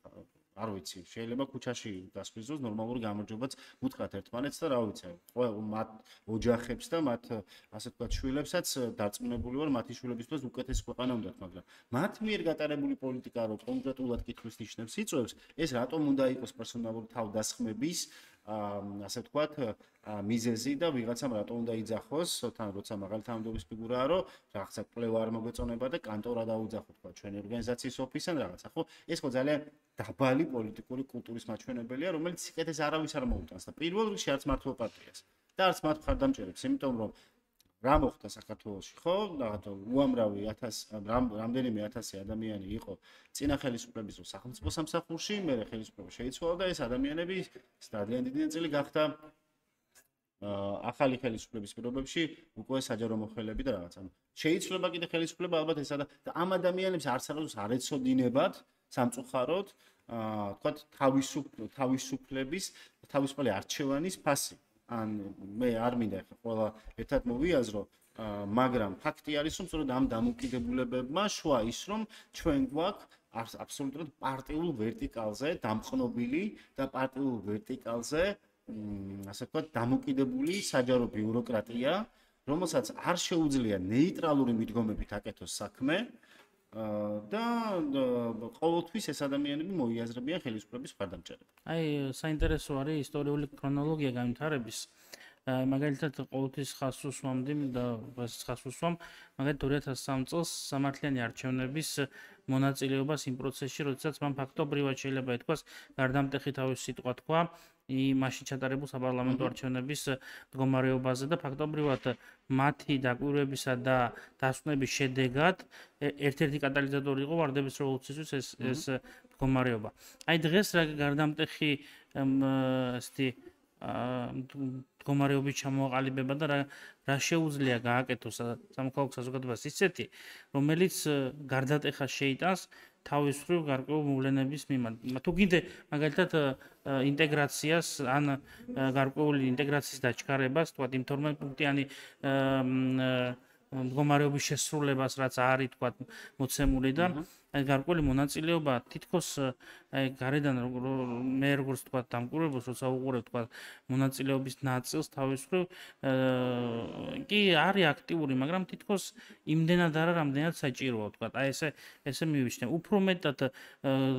არ ვიცი, შეიძლება ქუჩაში გასვიზოს ნორმალური გამარჯვებაც უთხრათ ერთმანეთს და რა ვიცი, ყველა მათ ოჯახებს და მათ ასე ვთქვათ შვილებსაც დარწმუნებული ვარ მათი შვილებისთვის უკეთესი ქვეყანა უნდათ, მაგრამ მათ მიერ გატარებული პოლიტიკა რო კონკრეტულად კითხვის ნიშნებს იწვევს, ეს რატომ უნდა იყოს პერსონალური თავდასხმების ასე ვთქვათ მიზეზი და ვიღაცამ რატომ უნდა იძახოს, თან როცა მაღალი თანამდებობის ფიგურაა, რომ რაღაცა კვლევა არ მოგეწონება და კანტორა დაუძახო თქვა ჩვენი ორგანიზაციის ოფისთან რაღაცა, ხო? ეს ხო ძალიან დაბალი პოლიტიკური კულტურის მაჩვენებელია, რომელიც სიკეთეს არავის არ მოუტანს და პირველ რიგში არც მართლ პარტიას და არც მათ მხარდამჭერებს, იმიტომ რომ რა მოხდა საქართველოში, ხო? რაღაცა უამრავი ათასი რამდენიმე ათასი ადამიანი იყო წინა ხელისუფლების დროს სახელმწიფო სამსახურში, მერე ხელისუფლება შეიცვალა და ეს ადამიანები ძალიან დიდი ნაწილი გახდა ახალი ხელისუფლების პირობებში უკვე საჯარო მოხელეები და რაღაცა. შეიცვლება კიდე ხელისუფლება ალბათ ესა და ამ ადამიანებს არც არავის არ ეცოდინებათ სამწუხაროდ, თქვათ თავისუფლების, თავისუფალი არჩევანის ფასი. ან მე არ მინდა ხა ყველა ერთად მოვიაზრო, მაგრამ ფაქტი არის, რომ სწორედ ამ დამოკიდებულებებმა შვა ის, რომ ჩვენ გვაქვს აბსოლუტურად პარტიულ ვერტიკალზე დამყნობილი და პარტიულ ვერტიკალზე ასე ვთქვათ დამოკიდებული საჯარო ბიუროკრატია, რომელსაც არ შეუძლია ნეიტრალური მიდგომებით აკეთოს საქმე და ყოველთვის ეს ადამიანები მოიაზრებიან ხელისუფლების მხარდამჭერებს. აი, საინტერესო არის ისტორიული ქრონოლოგია განვითარების. მაგალითად, ყოველთვის ხაზს უსვამდი და ხაზს უსვამ, მაგალითად ორი ათას სამი წელს სამართლიანი არჩევნების მონაწილეობას იმ პროცესში, როდესაც მან ფაქტობრივად შეიძლება ითქვას, გარდამტეხი თავისი სიტყვა თქვა მაშინ ჩატარებულ საპარლამენტო არჩევნების მდგომარეობაზე და ფაქტობრივად მათი დაკვირვებისა და დასკვნების შედეგად ერთ-ერთი კატალიზატორი იყო ვარდების რევოლუციისთვის ეს ეს მდგომარეობა. აი დღეს რა გარდამტეხი ესეთი მდგომარეობის ჩამოაყალიბება და რა რა შეუძლია გააკეთოს სამოქალაქო საზოგადოებას ისეთი, რომელიც გარდატეხას შეიტანს თავის მხრივ გარკვეულ მოვლენების მიმართ. თუ გინდე მაგალითად ინტეგრაციას ან გარკვეული ინტეგრაციის დაჩქარებას, თქვა იმ თორმეტ-პუნქტიანი მდგომარეობის შესრულებას, რაც არის თქვა მოცემული და აი გარკვეული მონაწილეობა თითქოს აი გარედან მე როგორც თქვა დამკვირვებელს როცა უყურებ თქვა მონაწილეობის ნაწილს თავის მხრივ კი არის აქტიური, მაგრამ თითქოს იმდენად არა, რამდენად საჭიროა თქვა. აი ესე ესე მივიჩნევ. უფრო მეტად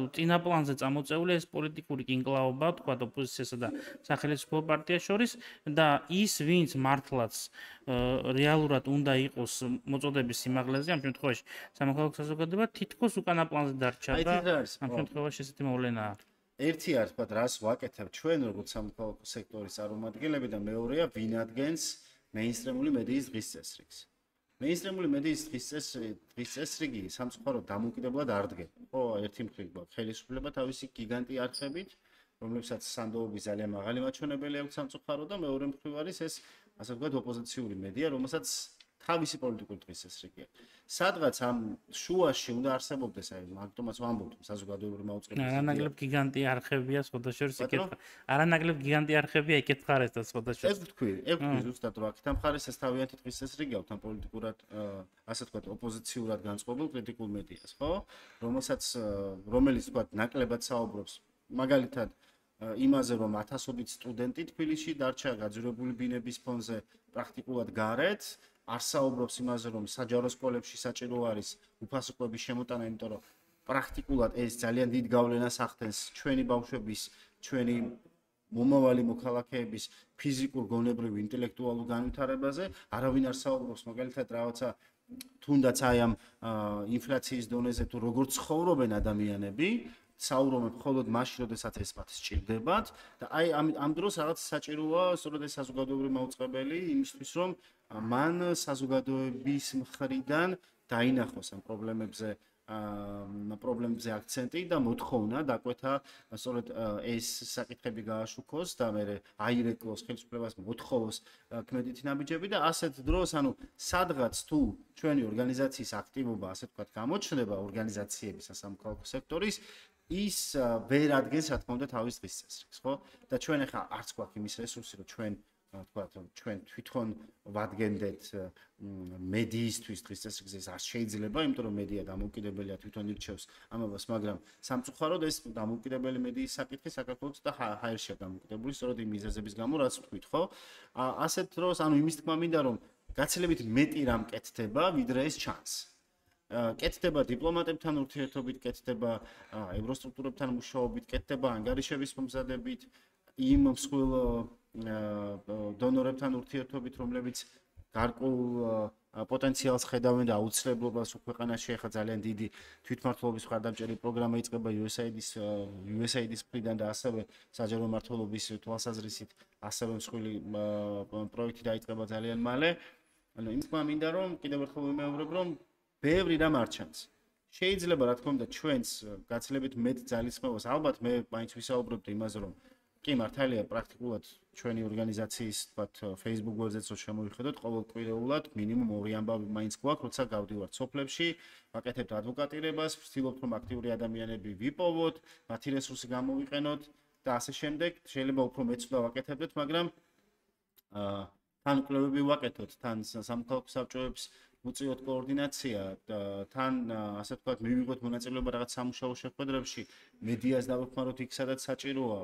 წინა პლანზე წამოწეულია ეს პოლიტიკური კინკლაობა თქვა ოპოზიციასა და სახელმწიფო პარტიას შორის და ის ვინც მართლაც რეალურად უნდა იყოს მოწოდების სიმაღლეზე, ამ შემთხვევაში სამოქალაქო საზოგადოება თითქოს უკანა პლანზე დარჩა და ამ შემთხვევაში ესეთი მოვლენაა. ერთი არის თქვა რას ვაკეთებ ჩვენ როგორც სამოქალაქო სექტორის წარმომადგენლები და მეორეა ვინ ადგენს მეინსტრიმული მედიის დღის წესრიგს. მეინსტრიმული მედიის დღის დღის წესრიგი სამწუხაროდ დამოუკიდებლად არ დგება. ხო, ერთი მხრივ გვაქვს ხელისუფლება თავისი გიგანტი არხებით, რომლებსაც სანდოობის ძალიან მაღალი მაჩვენებელი აქვს სამწუხაროდ და მეორე მხრივ არის ეს ასე ვთქვათ ოპოზიციური მედია, რომელსაც თავისი პოლიტიკური დღის წესრიგი აქვს. სადღაც ამ შუაში უნდა არსებობდეს, აი, მაგიტომაც ვამბობთ, საზოგადოებრივი მაუწყებლობის. არანაკლებ გიგანტი არხებია სხვადასხვა იკითხა. არანაკლებ გიგანტი არხებია იკითხარეს და სხვადასხვა. ეს ვთქვი, ეს ვთქვი ზუსტად რომ აქ თამხარეს ეს თავიანთი დღის წესრიგი აქვს ამ პოლიტიკურად, ასე ვთქვათ, ოპოზიციურად განწყობილ კრიტიკულ მედიას, ხო? რომელსაც რომელიც ვთქვათ, ნაკლებად საუბრობს მაგალითად იმაზე რომ ათასობით სტუდენტი თბილისში დარჩა გაძვირებული ბინების ფონზე პრაქტიკულად გარეთ, არ საუბრობს იმაზე რომ საჯარო სკოლებში საჭირო არის უფასო კვების შემოტანა, იმიტომ რომ პრაქტიკულად ეს ძალიან დიდ გავლენას ახდენს ჩვენი ბავშვების, ჩვენი მომავალი მოქალაქეების ფიზიკურ, გონებრივ, ინტელექტუალურ განვითარებაზე, არავინ არ საუბრობს მაგალითად რაღაცა თუნდაც აი ამ ინფლაციის დონეზე თუ როგორ ცხოვრობენ ადამიანები, საუბრობენ მხოლოდ მაშინ, როდესაც ეს მათ სჭირდებათ და აი ამ ამ დროს რაღაც საჭიროა სწორედ ეს საზოგადოებრივი მაუწყებელი იმისთვის, რომ მან საზოგადოების მხრიდან დაინახოს ამ პრობლემებზე ამ პრობლემებზე აქცენტი და მოთხოვნა დაკვეთა სწორედ ეს საკითხები გააშუქოს და მე აირეკლოს ხელისუფლებას მოთხოვოს ქმედითი ნაბიჯები და ასეთ დროს ანუ სადღაც თუ ჩვენი ორგანიზაციის აქტივობა ასე ვთქვათ გამოჩნდება ორგანიზაციების სამოქალაქო სექტორის ის ვერ ადგენს რა თქმა უნდა თავის დღის წესრიგს, ხო? და ჩვენ ახლა არც გვაქვს იმის რესურსი, რომ ჩვენ ვთქვათ, ჩვენ თვითონ ვადგენდეთ მედიისთვის დღის წესრიგზე, ეს არ შეიძლება, იმიტომ რომ მედია დამოუკიდებელია, თვითონ ირჩევს ამებას, მაგრამ სამწუხაროდ ეს დამოუკიდებელი მედიის საკითხი საქართველოს და ჰაერშია დამოუკიდებული, სწორედ იმ მიზეზების გამო, რაც ვთქვით, ხო? ასეთ დროს, ანუ იმის თქმა მინდა, რომ გაცილებით მეტი რამ კეთდება, ვიდრე ეს ჩანს. კეთდება დიპლომატებთან ურთიერთობით, კეთდება ევროსტრუქტურებთან მუშაობით, კეთდება ანგარიშების მომზადებით, იმ მსხვილ დონორებთან ურთიერთობით, რომლებიც გარკვეულ პოტენციალს ხედავენ და აუცილებლობას ქვეყანაში ახლა ძალიან დიდი თვითმმართველობის მხარდამჭერი პროგრამა იწყება იუ ეს აი დის იუ ეს აი დის მხრიდან და ასევე საჯარო მმართველობის თვალსაზრისით ასევე მსხვილი პროექტი დაიწყება ძალიან მალე. ანუ იმ თქმა მინდა რომ კიდევ ერთხელ ვიმეორებ რომ ბევრი რამ არ ჩანს. შეიძლება რა თქმა უნდა ჩვენს გაცილებით მეტ ძალისხმევას ალბათ მე მაინც ვისაუბრებთ იმაზე რომ კი მართალია პრაქტიკულად ჩვენი ორგანიზაციის თქვათ Facebook გვერდზეც რო შემოვიხედოთ ყოველკვირეულად მინიმუმ ორი ამბავი მაინც გვაქვს, როცა გავდივართ სოფლებში, ვაკეთებთ ადვოკატირებას, ვცდილობთ რომ აქტიური ადამიანები ვიპოვოთ, მათი რესურსი გამოვიყენოთ და ასე შემდეგ. შეიძლება უფრო მეცვლა ვაკეთებდეთ, მაგრამ აა თან კვლევები ვაკეთოთ, თან სამოქალაქო საბჭოებს უწიოთ კოორდინაცია, თან ასე ვთქვათ მივიღოთ მონაწილეობა რაღაც სამუშაო შეხვედრებში, მედიას დავეხმაროთ იქ სადაც საჭიროა.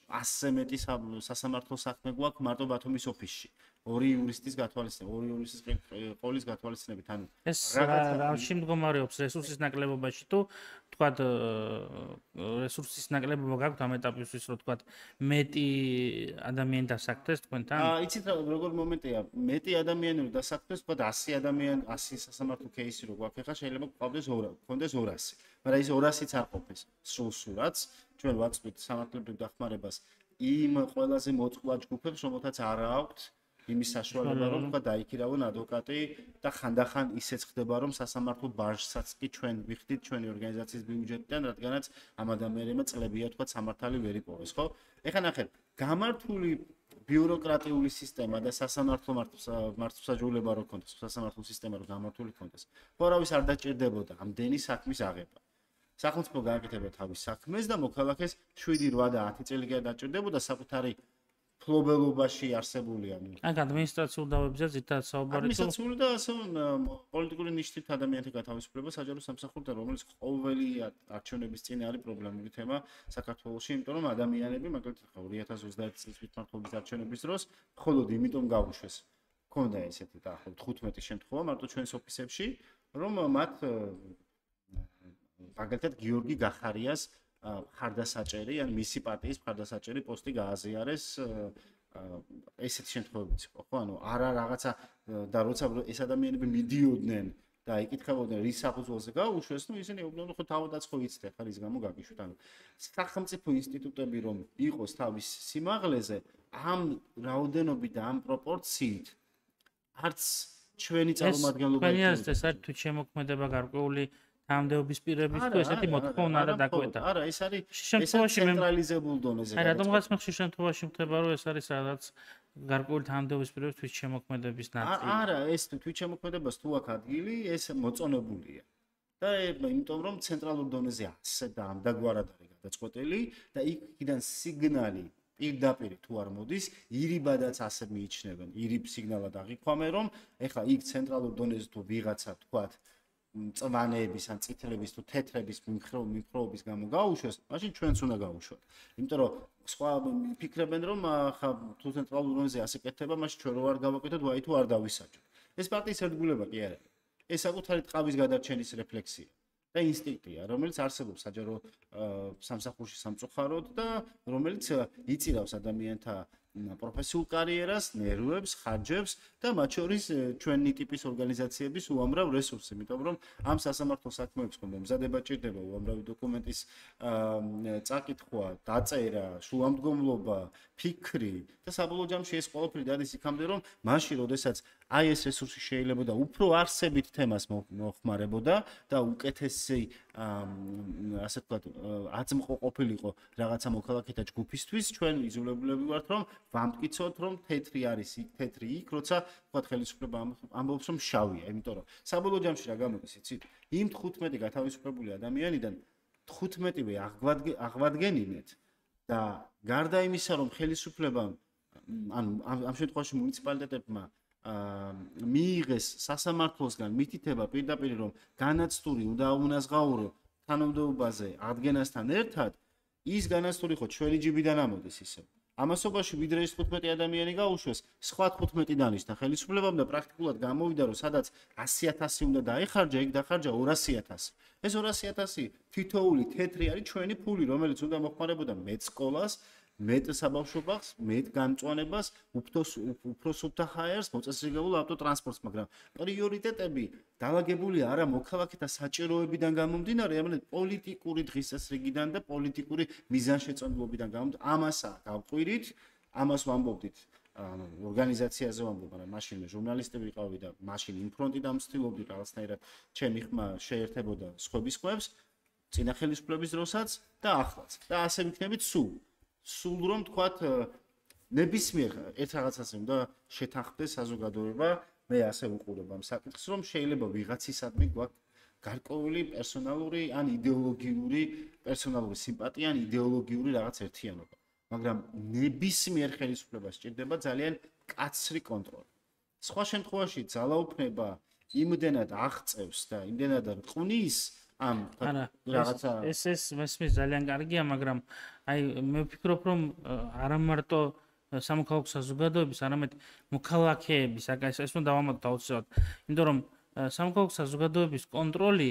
ასზე მეტი სასამართლო საქმე გვაქვს მარტო ბათუმის ოფისში. ორი იურისტის გათვალისწინებით, ორი იურისტის ყოლის გათვალისწინებით, ანუ ეს რა შემდგომარეობს რესურსის ნაკლებობაში თუ თქვათ რესურსის ნაკლებობა გაქვთ ამ ეტაპისთვის, რომ თქვათ მეტი ადამიანი დასაქმდეს თქვენთან? აა, იცით რა, როგორ მომენტია, მეტი ადამიანი რომ დასაქმდეს, თქვათ ასი ადამიანი, ასი სასამართლო кейსი რო გვაქვს, ხა შეიძლება გვყავდეს გქონდეს ორასი. მაგრამ ის ორასიც არ ყოფეს სულ-სულაც. ჩვენ ვაწვით სამართლებრივ დახმარებას იმ ყველაზე მოწყვლად ჯგუფებს, რომელთაც არ აქვთ იმის საშუალება, რომ თქვა დაიქირავონ ადვოკატი და ხანდახან ისეც ხდება, რომ სასამართლო ბაჟსაც კი ჩვენ ვიხდით ჩვენი ორგანიზაციის ბიუჯეტიდან, რადგანაც ამ ადამიანებმა წლებია თქვა სამართალი ვერ იპოვეს, ხო? ეხლა ნახეთ, გამართული ბიუროკრატიული სისტემა და სასამართლო მართლმსაჯულება რო ქონდეს, სასამართლო სისტემა რო გამართული ქონდეს, ხორავის არ დაჭირდებოდა ამდენი საქმის აღება. სახელმწიფო გააკეთებდა თავის საქმეს და მოქალაქეს შვიდი, რვა და ათი წელი გააჭირდებოდა საკუთარი ფლობელობაში არსებული ანუ აი ადმინისტრაციულ დავებზე ზითაც საუბარი თუ ადმინისტრაციული და ასე პოლიტიკური ნიშნით ადამიანთა გათავისუფლება საჯარო სამსახურთან, რომელიც ყოველი არჩევნების წინ არის პრობლემური თემა საქართველოში, იმიტომ რომ ადამიანები მაგალითად ორი ათას ოცდაერთი წლის თვითმმართველობის არჩევნების დროს მხოლოდ იმიტომ გაუშვეს. ქონდა ესეთი დაახლოებით თხუთმეტი შემთხვევა მარტო ჩვენს ოფისებში, რომ მათ მაგალითად გიორგი გახარიას მხარდასაჭერი, ან მისი პარტიის მხარდასაჭერი პოსტი გააზიარეს ესეთი შემთხვევებიც იყო, ხო? ანუ არა რაღაცა და როცა ეს ადამიანები მიდიოდნენ და იკითხებოდნენ რის საფუძველზე გაუშვეს, ну ისინი უბრალოდ ხო თავადაც ხო იცდენ, ხარ ის გამო გაგიშვით. ანუ სახელმწიფო ინსტიტუტები რომ იყოს თავის სიმაღლეზე, ამ რაოდენობით და ამ პროპორციით არც ჩვენი წარმომადგენლობა ეს ეს არის თუ შემოქმედება გარკვეული ამდეობის პირების თუ ესეთი მოთხოვნა არა დაგვეთა. არა, ეს არის შემთხვევაში ცენტრალიზებულ დონეზე. აი, რატომღაც მე ხშირ შემთხვევაში ხდება, რომ ეს არის რაღაც გარკვეული ამდეობის პირების თვით შემოქმედების ნაწილი. არა, ეს თვით შემოქმედებას თუ აქ ადგილი, ეს მოწონებულია. და იმიტომ რომ ცენტრალურ დონეზე ასე და ამდაგვარად არის გადაწყვეტილი და იქიდან სიგნალი პირდაპირ თუ არ მოდის, ირიბადაც ასე მიიჩნევენ. ირიბ სიგნალად აღიქვამენ, რომ ეხლა იქ ცენტრალურ დონეზე თუ ვიღაცა თქვათ წვანეების ან წითლების თუ თეთრების მიმხრეობის გამო გაუშვეს, მაშინ ჩვენც უნდა გაუშვათ. იმიტომ რომ სხვა ფიქრებენ, რომ ხა თუ ცენტრალურ დონეზე ასე კეთდება, მაშინ ჩვენ რო არ გავაკეთოთ, ვაი თუ არ დავისაჯოთ. ეს პარტიის ერთგულება კი არა. ეს საკუთარი ტყავის გადარჩენის რეფლექსია და ინსტინქტია, რომელიც არსებობს საჯარო სამსახურში სამწუხაროდ და რომელიც იწირავს ადამიანთა პროფესიულ კარიერას, ნერვებს, ხარჯებს და მათ შორის ჩვენი ტიპის ორგანიზაციების უამრავ რესურსს, იმიტომ რომ ამ სასამართლო საქმეებს ხომ მომზადება ჭირდება უამრავი დოკუმენტის წაკითხვა, დაწერა, შუამდგომლობა, ფიქრი და საბოლოო ჯამში ეს ყველაფერი დადის იქამდე, რომ მაშინ, როდესაც აი ეს რესურსი შეიძლება და უფრო არსებით თემას მოხმარებოდა და უკეთესი ასე ვთქვათ, აწმყო ყოფილიყო რაღაცა მოქალაქეთა ჯგუფისთვის, ჩვენ იძულებულები ვართ, რომ ვამტკიცოთ, რომ თეთრი არის იქ, თეთრი იქ, როცა ვთქვათ ხელისუფლება ამბობს, რომ შავია, იმიტომ რომ საბოლოო ჯამში რა გამოდის, იცით? იმ თხუთმეტი გათავისუფლებული ადამიანიდან თხუთმეტივე აღვადგენინეთ და გარდა იმისა, რომ ხელისუფლებამ ანუ ამ შემთხვევაში მუნიციპალიტეტებმა მიიღეს სასამართლოსგან მითითება პირდაპირ, რომ განაცდური უნდა უნაზღაურო თანამდებობაზე ადგენასთან ერთად, ის განაცდური ხო ჩვენი ჯიბიდან ამოდის ისე. ამასობაში ვიდრე ის თხუთმეტი ადამიანი გაუშვეს, სხვა თხუთმეტი დანიშნა ხელისუფლებამ და პრაქტიკულად გამოვიდა, რომ სადაც ასი ათასი უნდა დაეხარჯა, იქ დახარჯა ორასი ათასი. ეს ორასი ათასი თითოეული თეთრი არის ჩვენი ფული, რომელიც უნდა მოხმარებოდა მეტ სკოლას, მეტ საბავშვო ბაღს, მეტ გამწვანებას, უფრო სუფთა ჰაერს, მოწესრიგებულ ავტოტრანსპორტს, მაგრამ პრიორიტეტები დალაგებულია არა მოქალაქეთა საჭიროებიდან გამომდინარე, არამედ პოლიტიკური დღესასრიგიდან და პოლიტიკური მიზანშეწონილობიდან გამომდინარე. ამასა გავყვირით, ამას ვამბობდით ორგანიზაციაზე ვამბობ, მაგრამ მაშინ მე ჟურნალისტი ვიყავი და მაშინ იმ ფრონტიდან ვცდილობდი რაღაცნაირად ჩემი ხმა შეერთებოდა სხვების ხმებს, წინა ხელისუფლების დროსაც და ახლაც. და ასე ვიქნებით სულ. სულ რომ თქვათ ნებისმიერ ერთ რაღაცას უნდა შეთანხმდეს საზოგადოება, მე ასე ვუყურებ ამ საკითხს, რომ შეიძლება ვიღაცისადმი გვაქვს გარკვეული პერსონალური ან იდეოლოგიური პერსონალური სიმპათია ან იდეოლოგიური რაღაც ერთიანობა, მაგრამ ნებისმიერ ხელისუფლებას სჭირდება ძალიან კაცრი კონტროლი. სხვა შემთხვევაში ძალაუფლება იმდენად აღწევს და იმდენად რყმნის ამ რაღაცა ეს ეს მესმის ძალიან კარგია, მაგრამ აი მე ვფიქრობ, რომ არა მარტო სამოქალაქო საზოგადოების, არამედ მოქალაქეების, ეს ეს უნდა დავამატოთ აუცილებლად. იმიტომ რომ სამოქალაქო საზოგადოების კონტროლი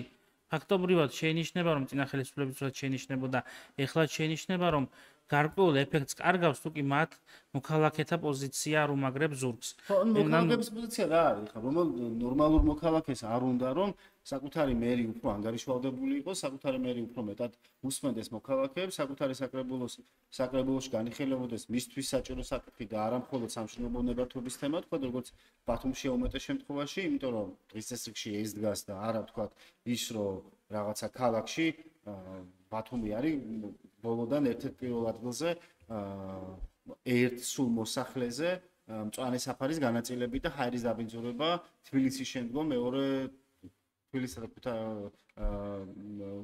ფაქტობრივად შეინიშნება, რომ წინა ხელისუფლებისათვის შეინიშნებოდა, ეხლა შეინიშნება, რომ გარკვეულ ეფექტს კარგავს თუ კი მათ მოქალაქეთა პოზიცია არ უმაგრებს ზურგს. ხო, მოქალაქეების პოზიცია რა არის? ხა, რომელ ნორმალურ მოქალაქეს არ უნდა რომ საკუთარი მერი უფრო ანგარიშვალდებული იყოს, საკუთარი მერი უფრო მეტად უსმენდეს მოქალაქეებს, საკუთარი საკრებულოს საკრებულოში განიხილებოდეს მისთვის საჭირო საკითხი და არა მხოლოდ სამშენებლო ნებართვების თემა, თქვა როგორც ბათუმშია უმეტეს შემთხვევაში, იმიტომ რომ დღის წესრიგში ეს დგას და არა თქვა ის რომ რაღაცა ქალაქში ბათუმი არის ბოლოდან ერთ-ერთ პირველ ადგილზე ერთ სულ მოსახლეზე მწვანე საფარის განაწილებით და ჰაერის დაბინძურება თბილისის შემდგომ მეორე თბილისსა და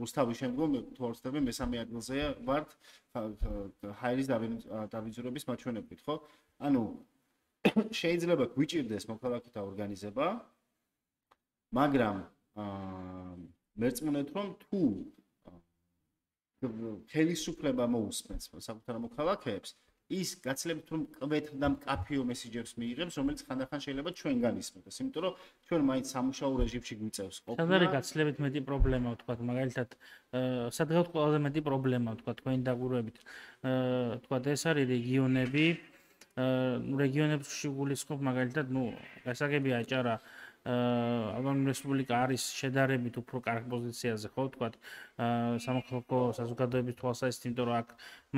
რუსთავის შემდგომ თორსტები მესამე ადგილზეა ვართ ჰაერის დაბინძურების მაჩვენებლით, ხო? ანუ შეიძლება გვიჭირდეს მოქალაქეთა ორგანიზება, მაგრამ მერწმუნეთ რომ თუ ხელისუფლება მოусმენს საკუთარ მოქალაქეებს, ის გაცილებით რომ კვეთ და მკაფიო მესიჯებს მიიღებს, რომელიც ხანდახან შეიძლება ჩვენგან ისმენდეს, იმიტომ რომ ჩვენ მაინც სამუშაო რეჟიმში გვიწევს ყოფნა. სად არის გაცილებით მეტი პრობლემა, ვთქვათ, მაგალითად, სადღაც ყველაზე მეტი პრობლემა, ვთქვათ, თქვენი დაგვირვებით, ვთქვათ, ეს არის რეგიონები, რეგიონებში გულისხმობ მაგალითად, ნუ, გასაგები აჭარა ავტონომიური რესპუბლიკა არის შედარებით უფრო კარგ პოზიციაზე, ხო, ვთქვათ, სამოქალაქო საზოგადოების თვალსაზრისით, იმიტომ რომ აქ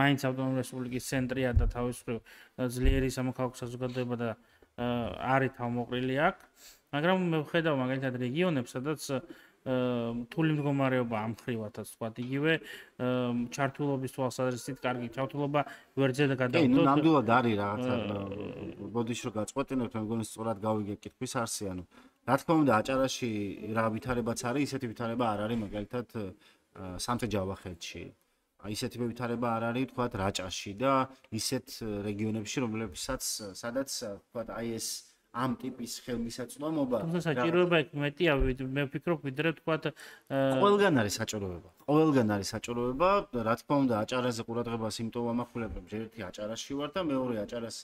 მაინც ავტონომიური რესპუბლიკის ცენტრია და თავისუფლ ძლიერი სამოქალაქო საზოგადოება და არის თავმოყრილი აქ, მაგრამ მე ვხედავ მაგალითად რეგიონებს, სადაც რთული მდგომარეობა ამ ხრივათაც, ვთქვათ, იგივე ჩართულობის თვალსაზრისით კარგი ჩართულობა ვერძე და გადავდოთ. კი, ნუ ნამდვილად არის რაღაცა ბოდიში რომ გაწყვეტინებთ, მე მგონი სწორად გავიგე კითხვის არსი, ანუ რა თქმა უნდა, აჭარაში რა ვითარებაც არის, ისეთი ვითარება არ არის მაგალითად სამთე-ჯავახეთში. ისეთი ვითარება არ არის, ვთქვათ, რაჭაში და ისეთ რეგიონებში, რომლებსაც სადაც, ვთქვათ, აი ეს ამ ტიპის ხელმისაწვდომობა. თუმცა საჭიროება იქ მეტია, მე ვფიქრობ, ვიდრე ვთქვათ, ყველგან არის საჭიროება. ყველგან არის საჭიროება, რა თქმა უნდა, აჭარაზე ყურადღებას იმიტომ ვამახვილებ, რომ ერთი აჭარაში ვარ და მეორე აჭარას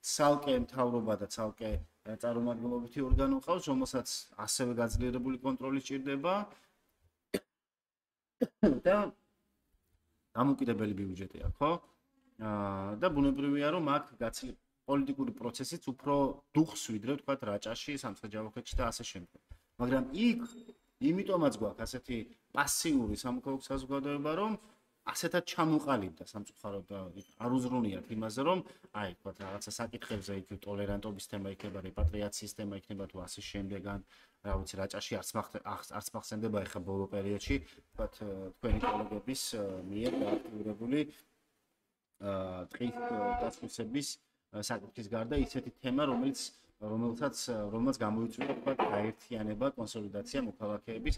ცალკე მთავრობა და ცალკე წარმომადგენლობითი ორგანო ყავს, რომელსაც ასევე გაძლიერებული კონტროლი სჭირდება და დამოუკიდებელი ბიუჯეტი აქვს, ხო? აა და ბუნებრივია, რომ აქ გაცილებით პოლიტიკური პროცესიც უფრო დუხს ვიდრე ვთქვათ რაჭაში, სამცხე-ჯავახეთში და ასე შემდეგ. მაგრამ იქ იმიტომაც გვაქვს ასეთი პასიური სამოქალაქო საზოგადოება, რომ ასეთად ჩამოყალიბდა სამწუხაროდ და არ უზრუნიათ იმაზე, რომ აი ვთქვათ რაღაცა საკითხებზე იქ ტოლერანტობის თემა იქნება, რეპატრიაციის თემა იქნება თუ ასე შემდეგან, რა ვიცი, რაჭაში არც არც მახსენდება ეხა ბოლო პერიოდში, ვთქვათ თქვენი კოლეგების მიერ გააქტიურებული აა ტყის დასუსების საკითხის გარდა ისეთი თემა, რომელიც რომელსაც რომელსაც გამოიწვია თქვა გაერთიანება, კონსოლიდაცია მოქალაქეების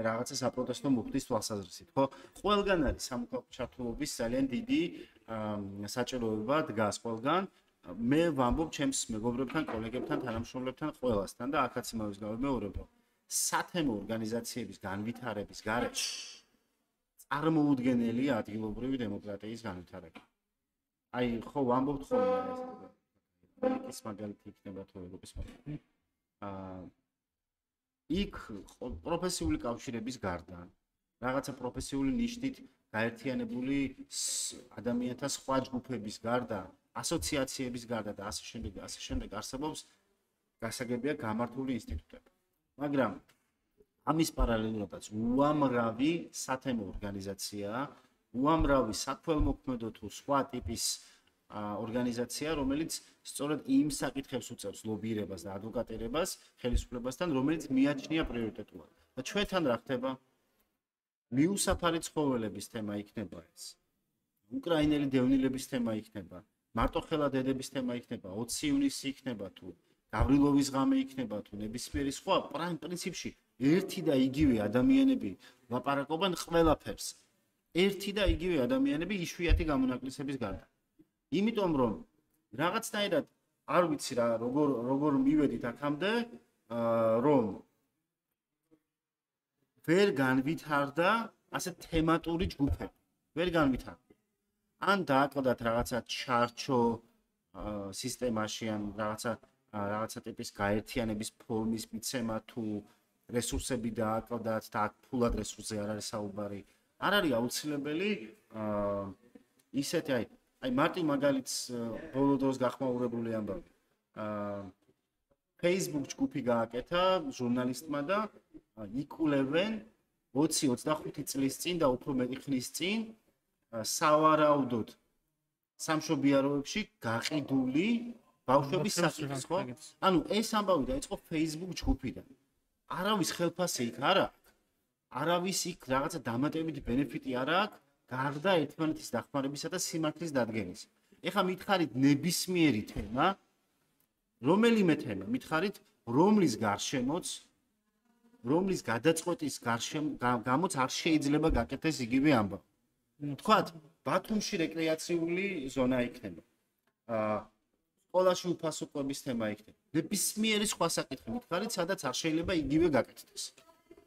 რაღაცა საპროტესტო მუხტის თვალსაზრისით, ხო? ყველგან არის სამოქალაქო ჩართულობის ძალიან დიდი საჭიროება დგას ყველგან. მე ვამბობ ჩემს მეგობრებთან, კოლეგებთან, თანამშრომლებთან, ყველასთან და აქაც იმავეს გავიმეორებ, რომ სათემო ორგანიზაციების განვითარების გარეშე წარმოუდგენელია ადგილობრივი დემოკრატიის განვითარება. აი, ხო, ვამბობთ ხოლმე ეს მაგალითი იქნება თუ ევროპის მაგალითი. აა იქ პროფესიული კავშირების გარდა, რაღაცა პროფესიული ნიშნით გაერთიანებული ადამიანთა სხვა ჯგუფების გარდა, ასოციაციების გარდა და ასე შემდეგ და ასე შემდეგ არსებობს გასაგებია გამართული ინსტიტუტები. მაგრამ ამის პარალელურადაც უამრავი სათემო ორგანიზაციაა, უამრავი საქველმოქმედო თუ სხვა ტიპის ორგანიზაცია, რომელიც სწორედ იმ საკითხებს უწევს ლობირებას და ადვოკატირებას ხელისუფლებასთან, რომელიც მიაჩნია პრიორიტეტულად. და ჩვენთან რა ხდება? მიუსაფარი ცხოველების თემა იქნება ეს. უკრაინელი დევნილების თემა იქნება, მარტოხელა დედების თემა იქნება, ოცი ივნისი იქნება თუ გავრილოვის ღამე იქნება თუ ნებისმიერი სხვა, პრინციპში ერთი და იგივე ადამიანები ლაპარაკობენ ყველაფერს. ერთი და იგივე ადამიანები იშვიათი გამონაკლისების გარდა. იმიტომ რომ რაღაცნაირად არ ვიცი რა როგორ როგორ მივედით აქამდე, რომ ვერ განვითარდა ასე თემატური ჯგუფები. ვერ განვითარდა. ან დააკლდათ რაღაცა ჩარჩო სისტემაში ან რაღაცა რაღაცა ტიპის გაერთიანების ფორმის მიცემა თუ რესურსები დააკლდათ და აქ ფულად რესურსზე არ არის საუბარი. არ არის აუცილებელი ისეთი აი აი მარტი მაგალითს ბოლო დროს გახმაურებული ამბავი. Facebook ჯგუფი გააკეთა ჟურნალისტმა და იკვლევენ ოცი ოცდახუთი წლის წინ და უფრო მეტი ხნის წინ სავარაუდოდ სამშობიაროებში გაყიდული ბავშვების საკითხს, ხო? ანუ ეს ამბავი დაიწყო Facebook ჯგუფიდან. არავის ხელფასი იქ არ აქვს. არავის იქ რაღაცა დამატებითი ბენეფიტი არ აქვს, გარდა ერთმანეთის დახმარებისა და სიმართლის დადგენის. ეხლა მითხარით ნებისმიერი თემა, რომელიმე თემა, მითხარით რომლის გარშემოც, რომლის გადაწყვეტის გამოც არ შეიძლება გაკეთდეს იგივე ამბავი. თქვათ, ბათუმში რეკრეაციული ზონა იქნება. აა სკოლაში უფასო კვების თემა იქნება. ნებისმიერი სხვა საკითხი მითხარით, სადაც არ შეიძლება იგივე გაკეთდეს.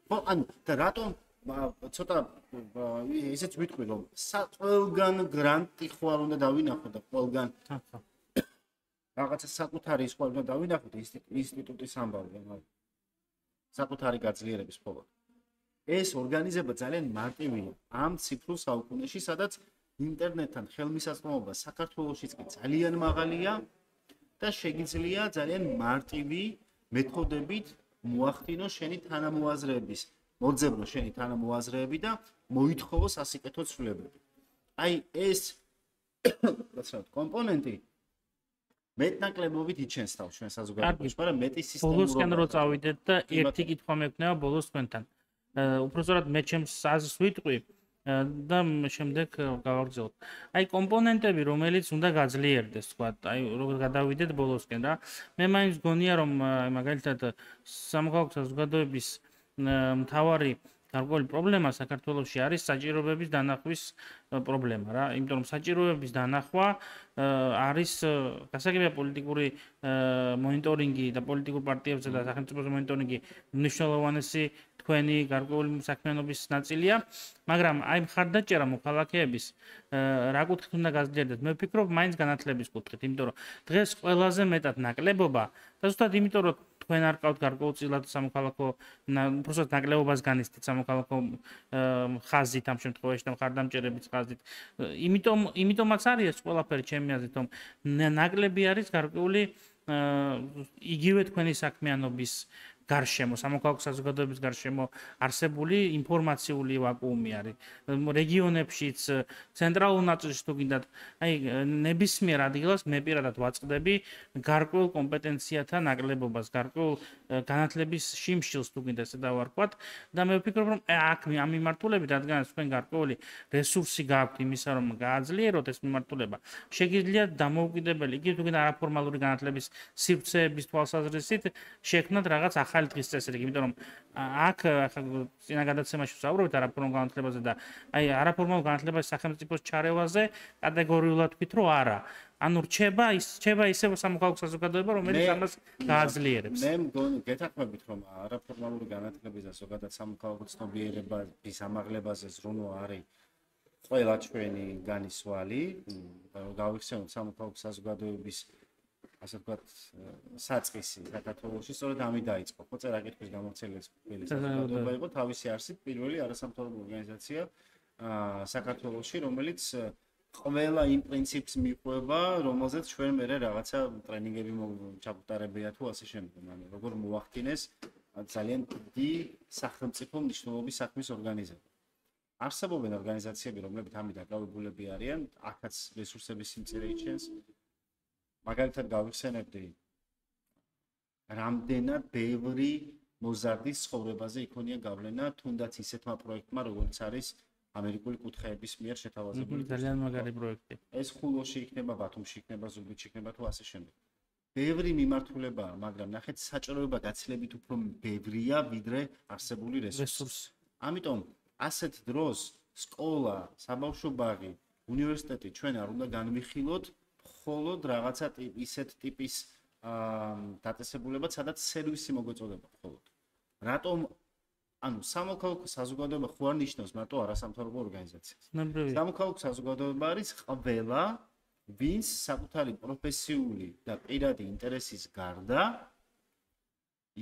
ხო, ანუ და რატომ ცოტა ესეც ვიტყვი რომ ყველგან გრანტი ხوار უნდა დავინახოთ და ყველგან რაღაცა საკუთარი ის ხوار უნდა დავინახოთ ინსტიტუტის ამბავი, საკუთარი გაძლიერების ხოლმე. ეს ორგანიზება ძალიან მარტივია ამ ციფრულ საუკუნეში, სადაც ინტერნეტთან ხელმისაწვდომობა საქართველოშიც კი ძალიან მაღალია და შეგიძლია ძალიან მარტივი მეთოდებით მოახდინო შენი თანამოაზრეების, მოძებნო შენი თანამოაზრეები და მოითხოვო სასიკეთო ცვლილებები. აი ეს გასაგებია კომპონენტი მეტნაკლებობით იჩენს თავს ჩვენ საზოგადოებაში, მაგრამ მეტი სისტემური ბოლოსკენ რო წავიდეთ და ერთი კითხვა მექნება ბოლოს თქვენთან. უпростоრად მე ჩემს აზრს ვიტყვი და შემდეგ გავაგრძელოთ. აი კომპონენტები, რომელიც უნდა გაძლიერდეს, თქვა, აი როგორ გადავიდეთ ბოლოსკენ რა. მე მაინც გონია რომ მაგალითად სამოქალაქო საზოგადოების მთავარი გარკვეული პრობლემა საქართველოში არის საჭიროებების დანახვის პრობლემა რა. იმიტომ რომ საჭიროებების დანახვა არის გასაგებია პოლიტიკური მონიტორინგი და პოლიტიკურ პარტიებზე და სახელმწიფოზე მონიტორინგი მნიშვნელოვანესი თქვენი გარკვეული საქმიანობის ნაწილია, მაგრამ აი მხარდაჭერა მოქალაქეების რა კუთხით უნდა გაძლიერდეს? მე ვფიქრობ, მაინც განათლების კუთხით, იმიტომ რომ დღეს ყველაზე მეტად ნაკლებობა და ზუსტად იმიტომ რომ თქვენ არ ყავთ გარკვეულწილად სამოქალაქო უბრალოდ ნაკლებობას განიცდით სამოქალაქო ხაზით ამ შემთხვევაში და მხარდამჭერების ხაზით. იმიტომ იმიტომაც არის ეს ყველაფერი ჩემი აზრით, რომ ნაკლები არის გარკვეული იგივე თქვენი საქმიანობის გარშემო, სამოქალაქო საზოგადოების გარშემო არსებული ინფორმაციული ვაკუუმი არის. რეგიონებშიც, ცენტრალურ ნაწილში თუ გინდათ, აი ნებისმიერ ადგილას მე პირადად ვაწყდები გარკვეულ კომპეტენციათა ნაკლებობას, გარკვეულ განათლების შიმშილს თუ გინდა ესე დავარქვათ და მე ვფიქრობ, რომ აქ ამ მიმართულებით, რადგანაც თქვენ გარკვეული რესურსი გაქვთ იმისა, რომ გააძლიეროთ ეს მიმართულება, შეგიძლიათ დამოუკიდებელი, იგივე თუ გინდა არაფორმალური განათლების სივრცეების თვალსაზრისით შექმნათ რაღაც ახალი დღის წესრიგი, იმიტომ რომ აქ წინა გადაცემაში ვსაუბრობთ არაფორმალურ განათლებაზე და აი არაფორმალურ განათლებას სახელმწიფოს ჩარევაზე კატეგორიულად ვთქვით, რომ არა. ანუ რჩება ის რჩება ისევ სამოქალაქო საზოგადოება, რომელიც ამას გააძლიერებს. მე მგონი გეთანხმებით, რომ არაფორმალური განათლების და ზოგადად სამოქალაქო ცნობიერების ამაღლებაზე ზრუნვა არის ყველა ჩვენი განისვალი, გავიხსენოთ სამოქალაქო საზოგადოების ასე ვთქვათ, საწყისი საქართველოში სწორედ ამით დაიწყო. ხო, წერაკითხვის გამოცდილების პირველი საზოგადოება იყო თავისი არსით პირველი არასამთავრობო ორგანიზაცია საქართველოში, რომელიც ყველა იმ პრინციპს მიყვება, რომელზეც ჩვენ მერე რაღაცა ტრენინგები ჩაგუტარებია თუ ასე შემდეგ. ანუ როგორ მოახდინეს ძალიან დიდი სახელმწიფო მნიშვნელობის საქმის ორგანიზება. არსებობენ ორგანიზაციები, რომლებიც ამით დაკავებულები არიან, აქაც რესურსების სიმწირე იჩენს. მაგალითად გავიხსენებდი რამდენად ბევრი მოზარდის ცხოვრებაზე იქონია გავლენა თუნდაც ისეთმა პროექტმა როგორც არის ამერიკული კუთხეების მიერ შეთავაზებული ძალიან მაგარი პროექტი. ეს ხულოში იქნება, ბათუმში იქნება, ზუგდიდში იქნება თუ ასე შემდეგ. ბევრი მიმართულებაა, მაგრამ ნახეთ საჭიროება გაცილებით უფრო ბევრია ვიდრე არსებული რესურსი. ამიტომ ასეთ დროს სკოლა, საბავშვო ბაღი, უნივერსიტეტი ჩვენ არ უნდა განვიხილოთ მხოლოდ რაღაცა ისეთ ტიპის დაწესებულებად, სადაც სერვისი მოგვეწოდება მხოლოდ. რატომ ანუ სამოქალაქო საზოგადოება ხوار ნიშნავს მარტო არასამთავრობო ორგანიზაციას. სამოქალაქო საზოგადოება არის ყველა ვინც საკუთარი პროფესიული და პირადი ინტერესის გარდა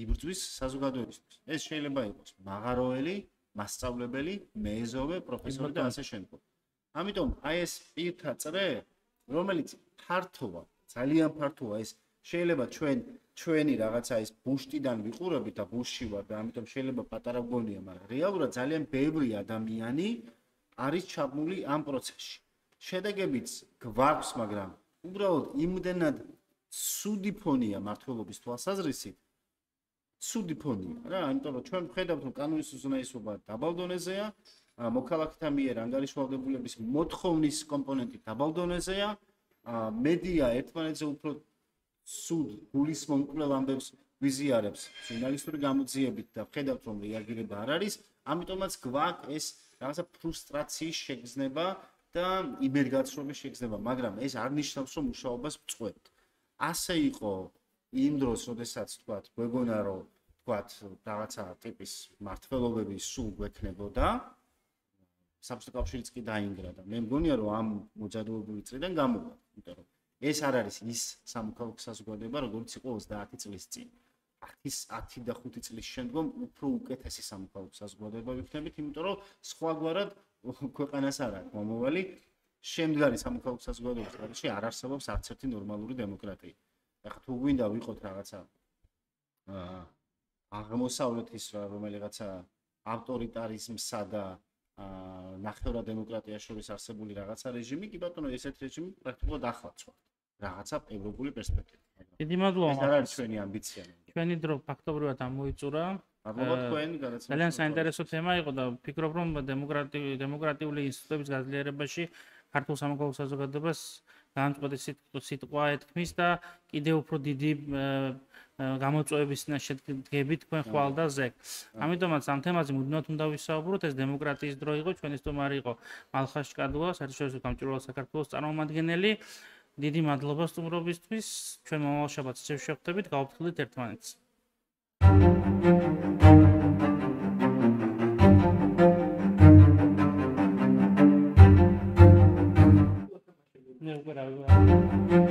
იბრძვის საზოგადოებისთვის. ეს შეიძლება იყოს მაღაროელი, მასწავლებელი, მეზობე, პროფესორი და ასე შემდგომ. ამიტომ აი ეს პირთა წრე, რომელიც ფართოა, ძალიან ფართოა, ეს შეიძლება ჩვენ ჩვენი რაღაცა ის ბუშტიდან ვიყურებით და ბუშში ვარ და ამიტომ შეიძლება პატარა გონია, მაგრამ რეალურად ძალიან ბევრი ადამიანი არის ჩაბმული ამ პროცესში. შედეგებიც გვაქვს, მაგრამ უბრალოდ იმდენად ცუდი ფონია მართლობის თვალსაზრისით, ცუდი ფონია რა, იმიტომ რომ ჩვენ ვხედავთ, რომ კანონის უზენაესობა დაბალ დონეზეა, მოქალაქეთა მიერ ანგარიშვალდებულების მოთხოვნის კომპონენტი დაბალ დონეზეა, მედია ერთმანეთზე უფრო სუდ გულისმომკვლელ კვლელ ამბებს ვიზიარებს ჟურნალისტური გამოძიებით და ვხედავთ, რომ რეაგირება არ არის, ამიტომაც გვაქვს ეს რაღაცა ფრუსტრაციის შეგრძნება და იმერგაცრუების შეგრძნება, მაგრამ ეს არ ნიშნავს, რომ მუშაობას ვწყვეტ. ასე იყო იმ დროს, როდესაც თქვათ, გვეგონა რომ თქვათ, რაღაცა ტიპის მართლობები სულ გვექნებოდა, საბჭოთა კავშირიც კი დაინგრა და მე მგონია, რომ ამ მოძადოებული წრიდან გამოვიდა, იმიტომ რომ ეს არ არის ის სამოქალაქო საზოგადოება, როგორც იყო ოცდაათი წლის წინ. ათი და ხუთი წლის შემდგომ უფრო უკეთესი სამოქალაქო საზოგადოება ვიქნებით, იმიტომ რომ სხვაგვარად ქვეყანას არ აქვს მომავალი, შემდგარი სამოქალაქო საზოგადოების გარეშე არ არსებობს არც ერთი ნორმალური დემოკრატია. ეხლა თუ გვინდა ვიყოთ რაღაცა აა აღმოსავლეთის რომელიღაცა ავტორიტარიზმსა და აა ნახევრად დემოკრატიას შორის არსებული რაღაცა რეჟიმი, კი ბატონო, ესეთ რეჟიმი პრაქტიკულად ახლაც ვარ. რაღაცა ევროპული პერსპექტივა. დიდი მადლობა. ეს არ არის ჩვენი ამბიცია. ჩვენი დრო ფაქტობრივად ამოიწურა. მადლობა თქვენ გადაცემაში. ძალიან საინტერესო თემა იყო და ვფიქრობ, რომ დემოკრატიული დემოკრატიული ინსტიტუტების გაძლიერებაში ქართულ სამოქალაქო საზოგადოებას განწყვეტი სიტყვა ეთქმის და კიდევ უფრო დიდი გამოწვევების შედგებით თქვენ ხვალ და ზეგ. ამიტომაც ამ თემაზე მუდმივად უნდა ვისაუბროთ, ეს დემოკრატიის დრო იყო, ჩვენი სტუმარი იყო მალხაზ ჭკადუა, საერთაშორისო გამჭვირვალე საქართველოს წარმომადგენელი. დიდი მადლობა სტუმრობისთვის. ჩვენ მომავალ შაბათს შევხვდებით, გავაფრთხილდით ერთმანეთს. Ne, whatever.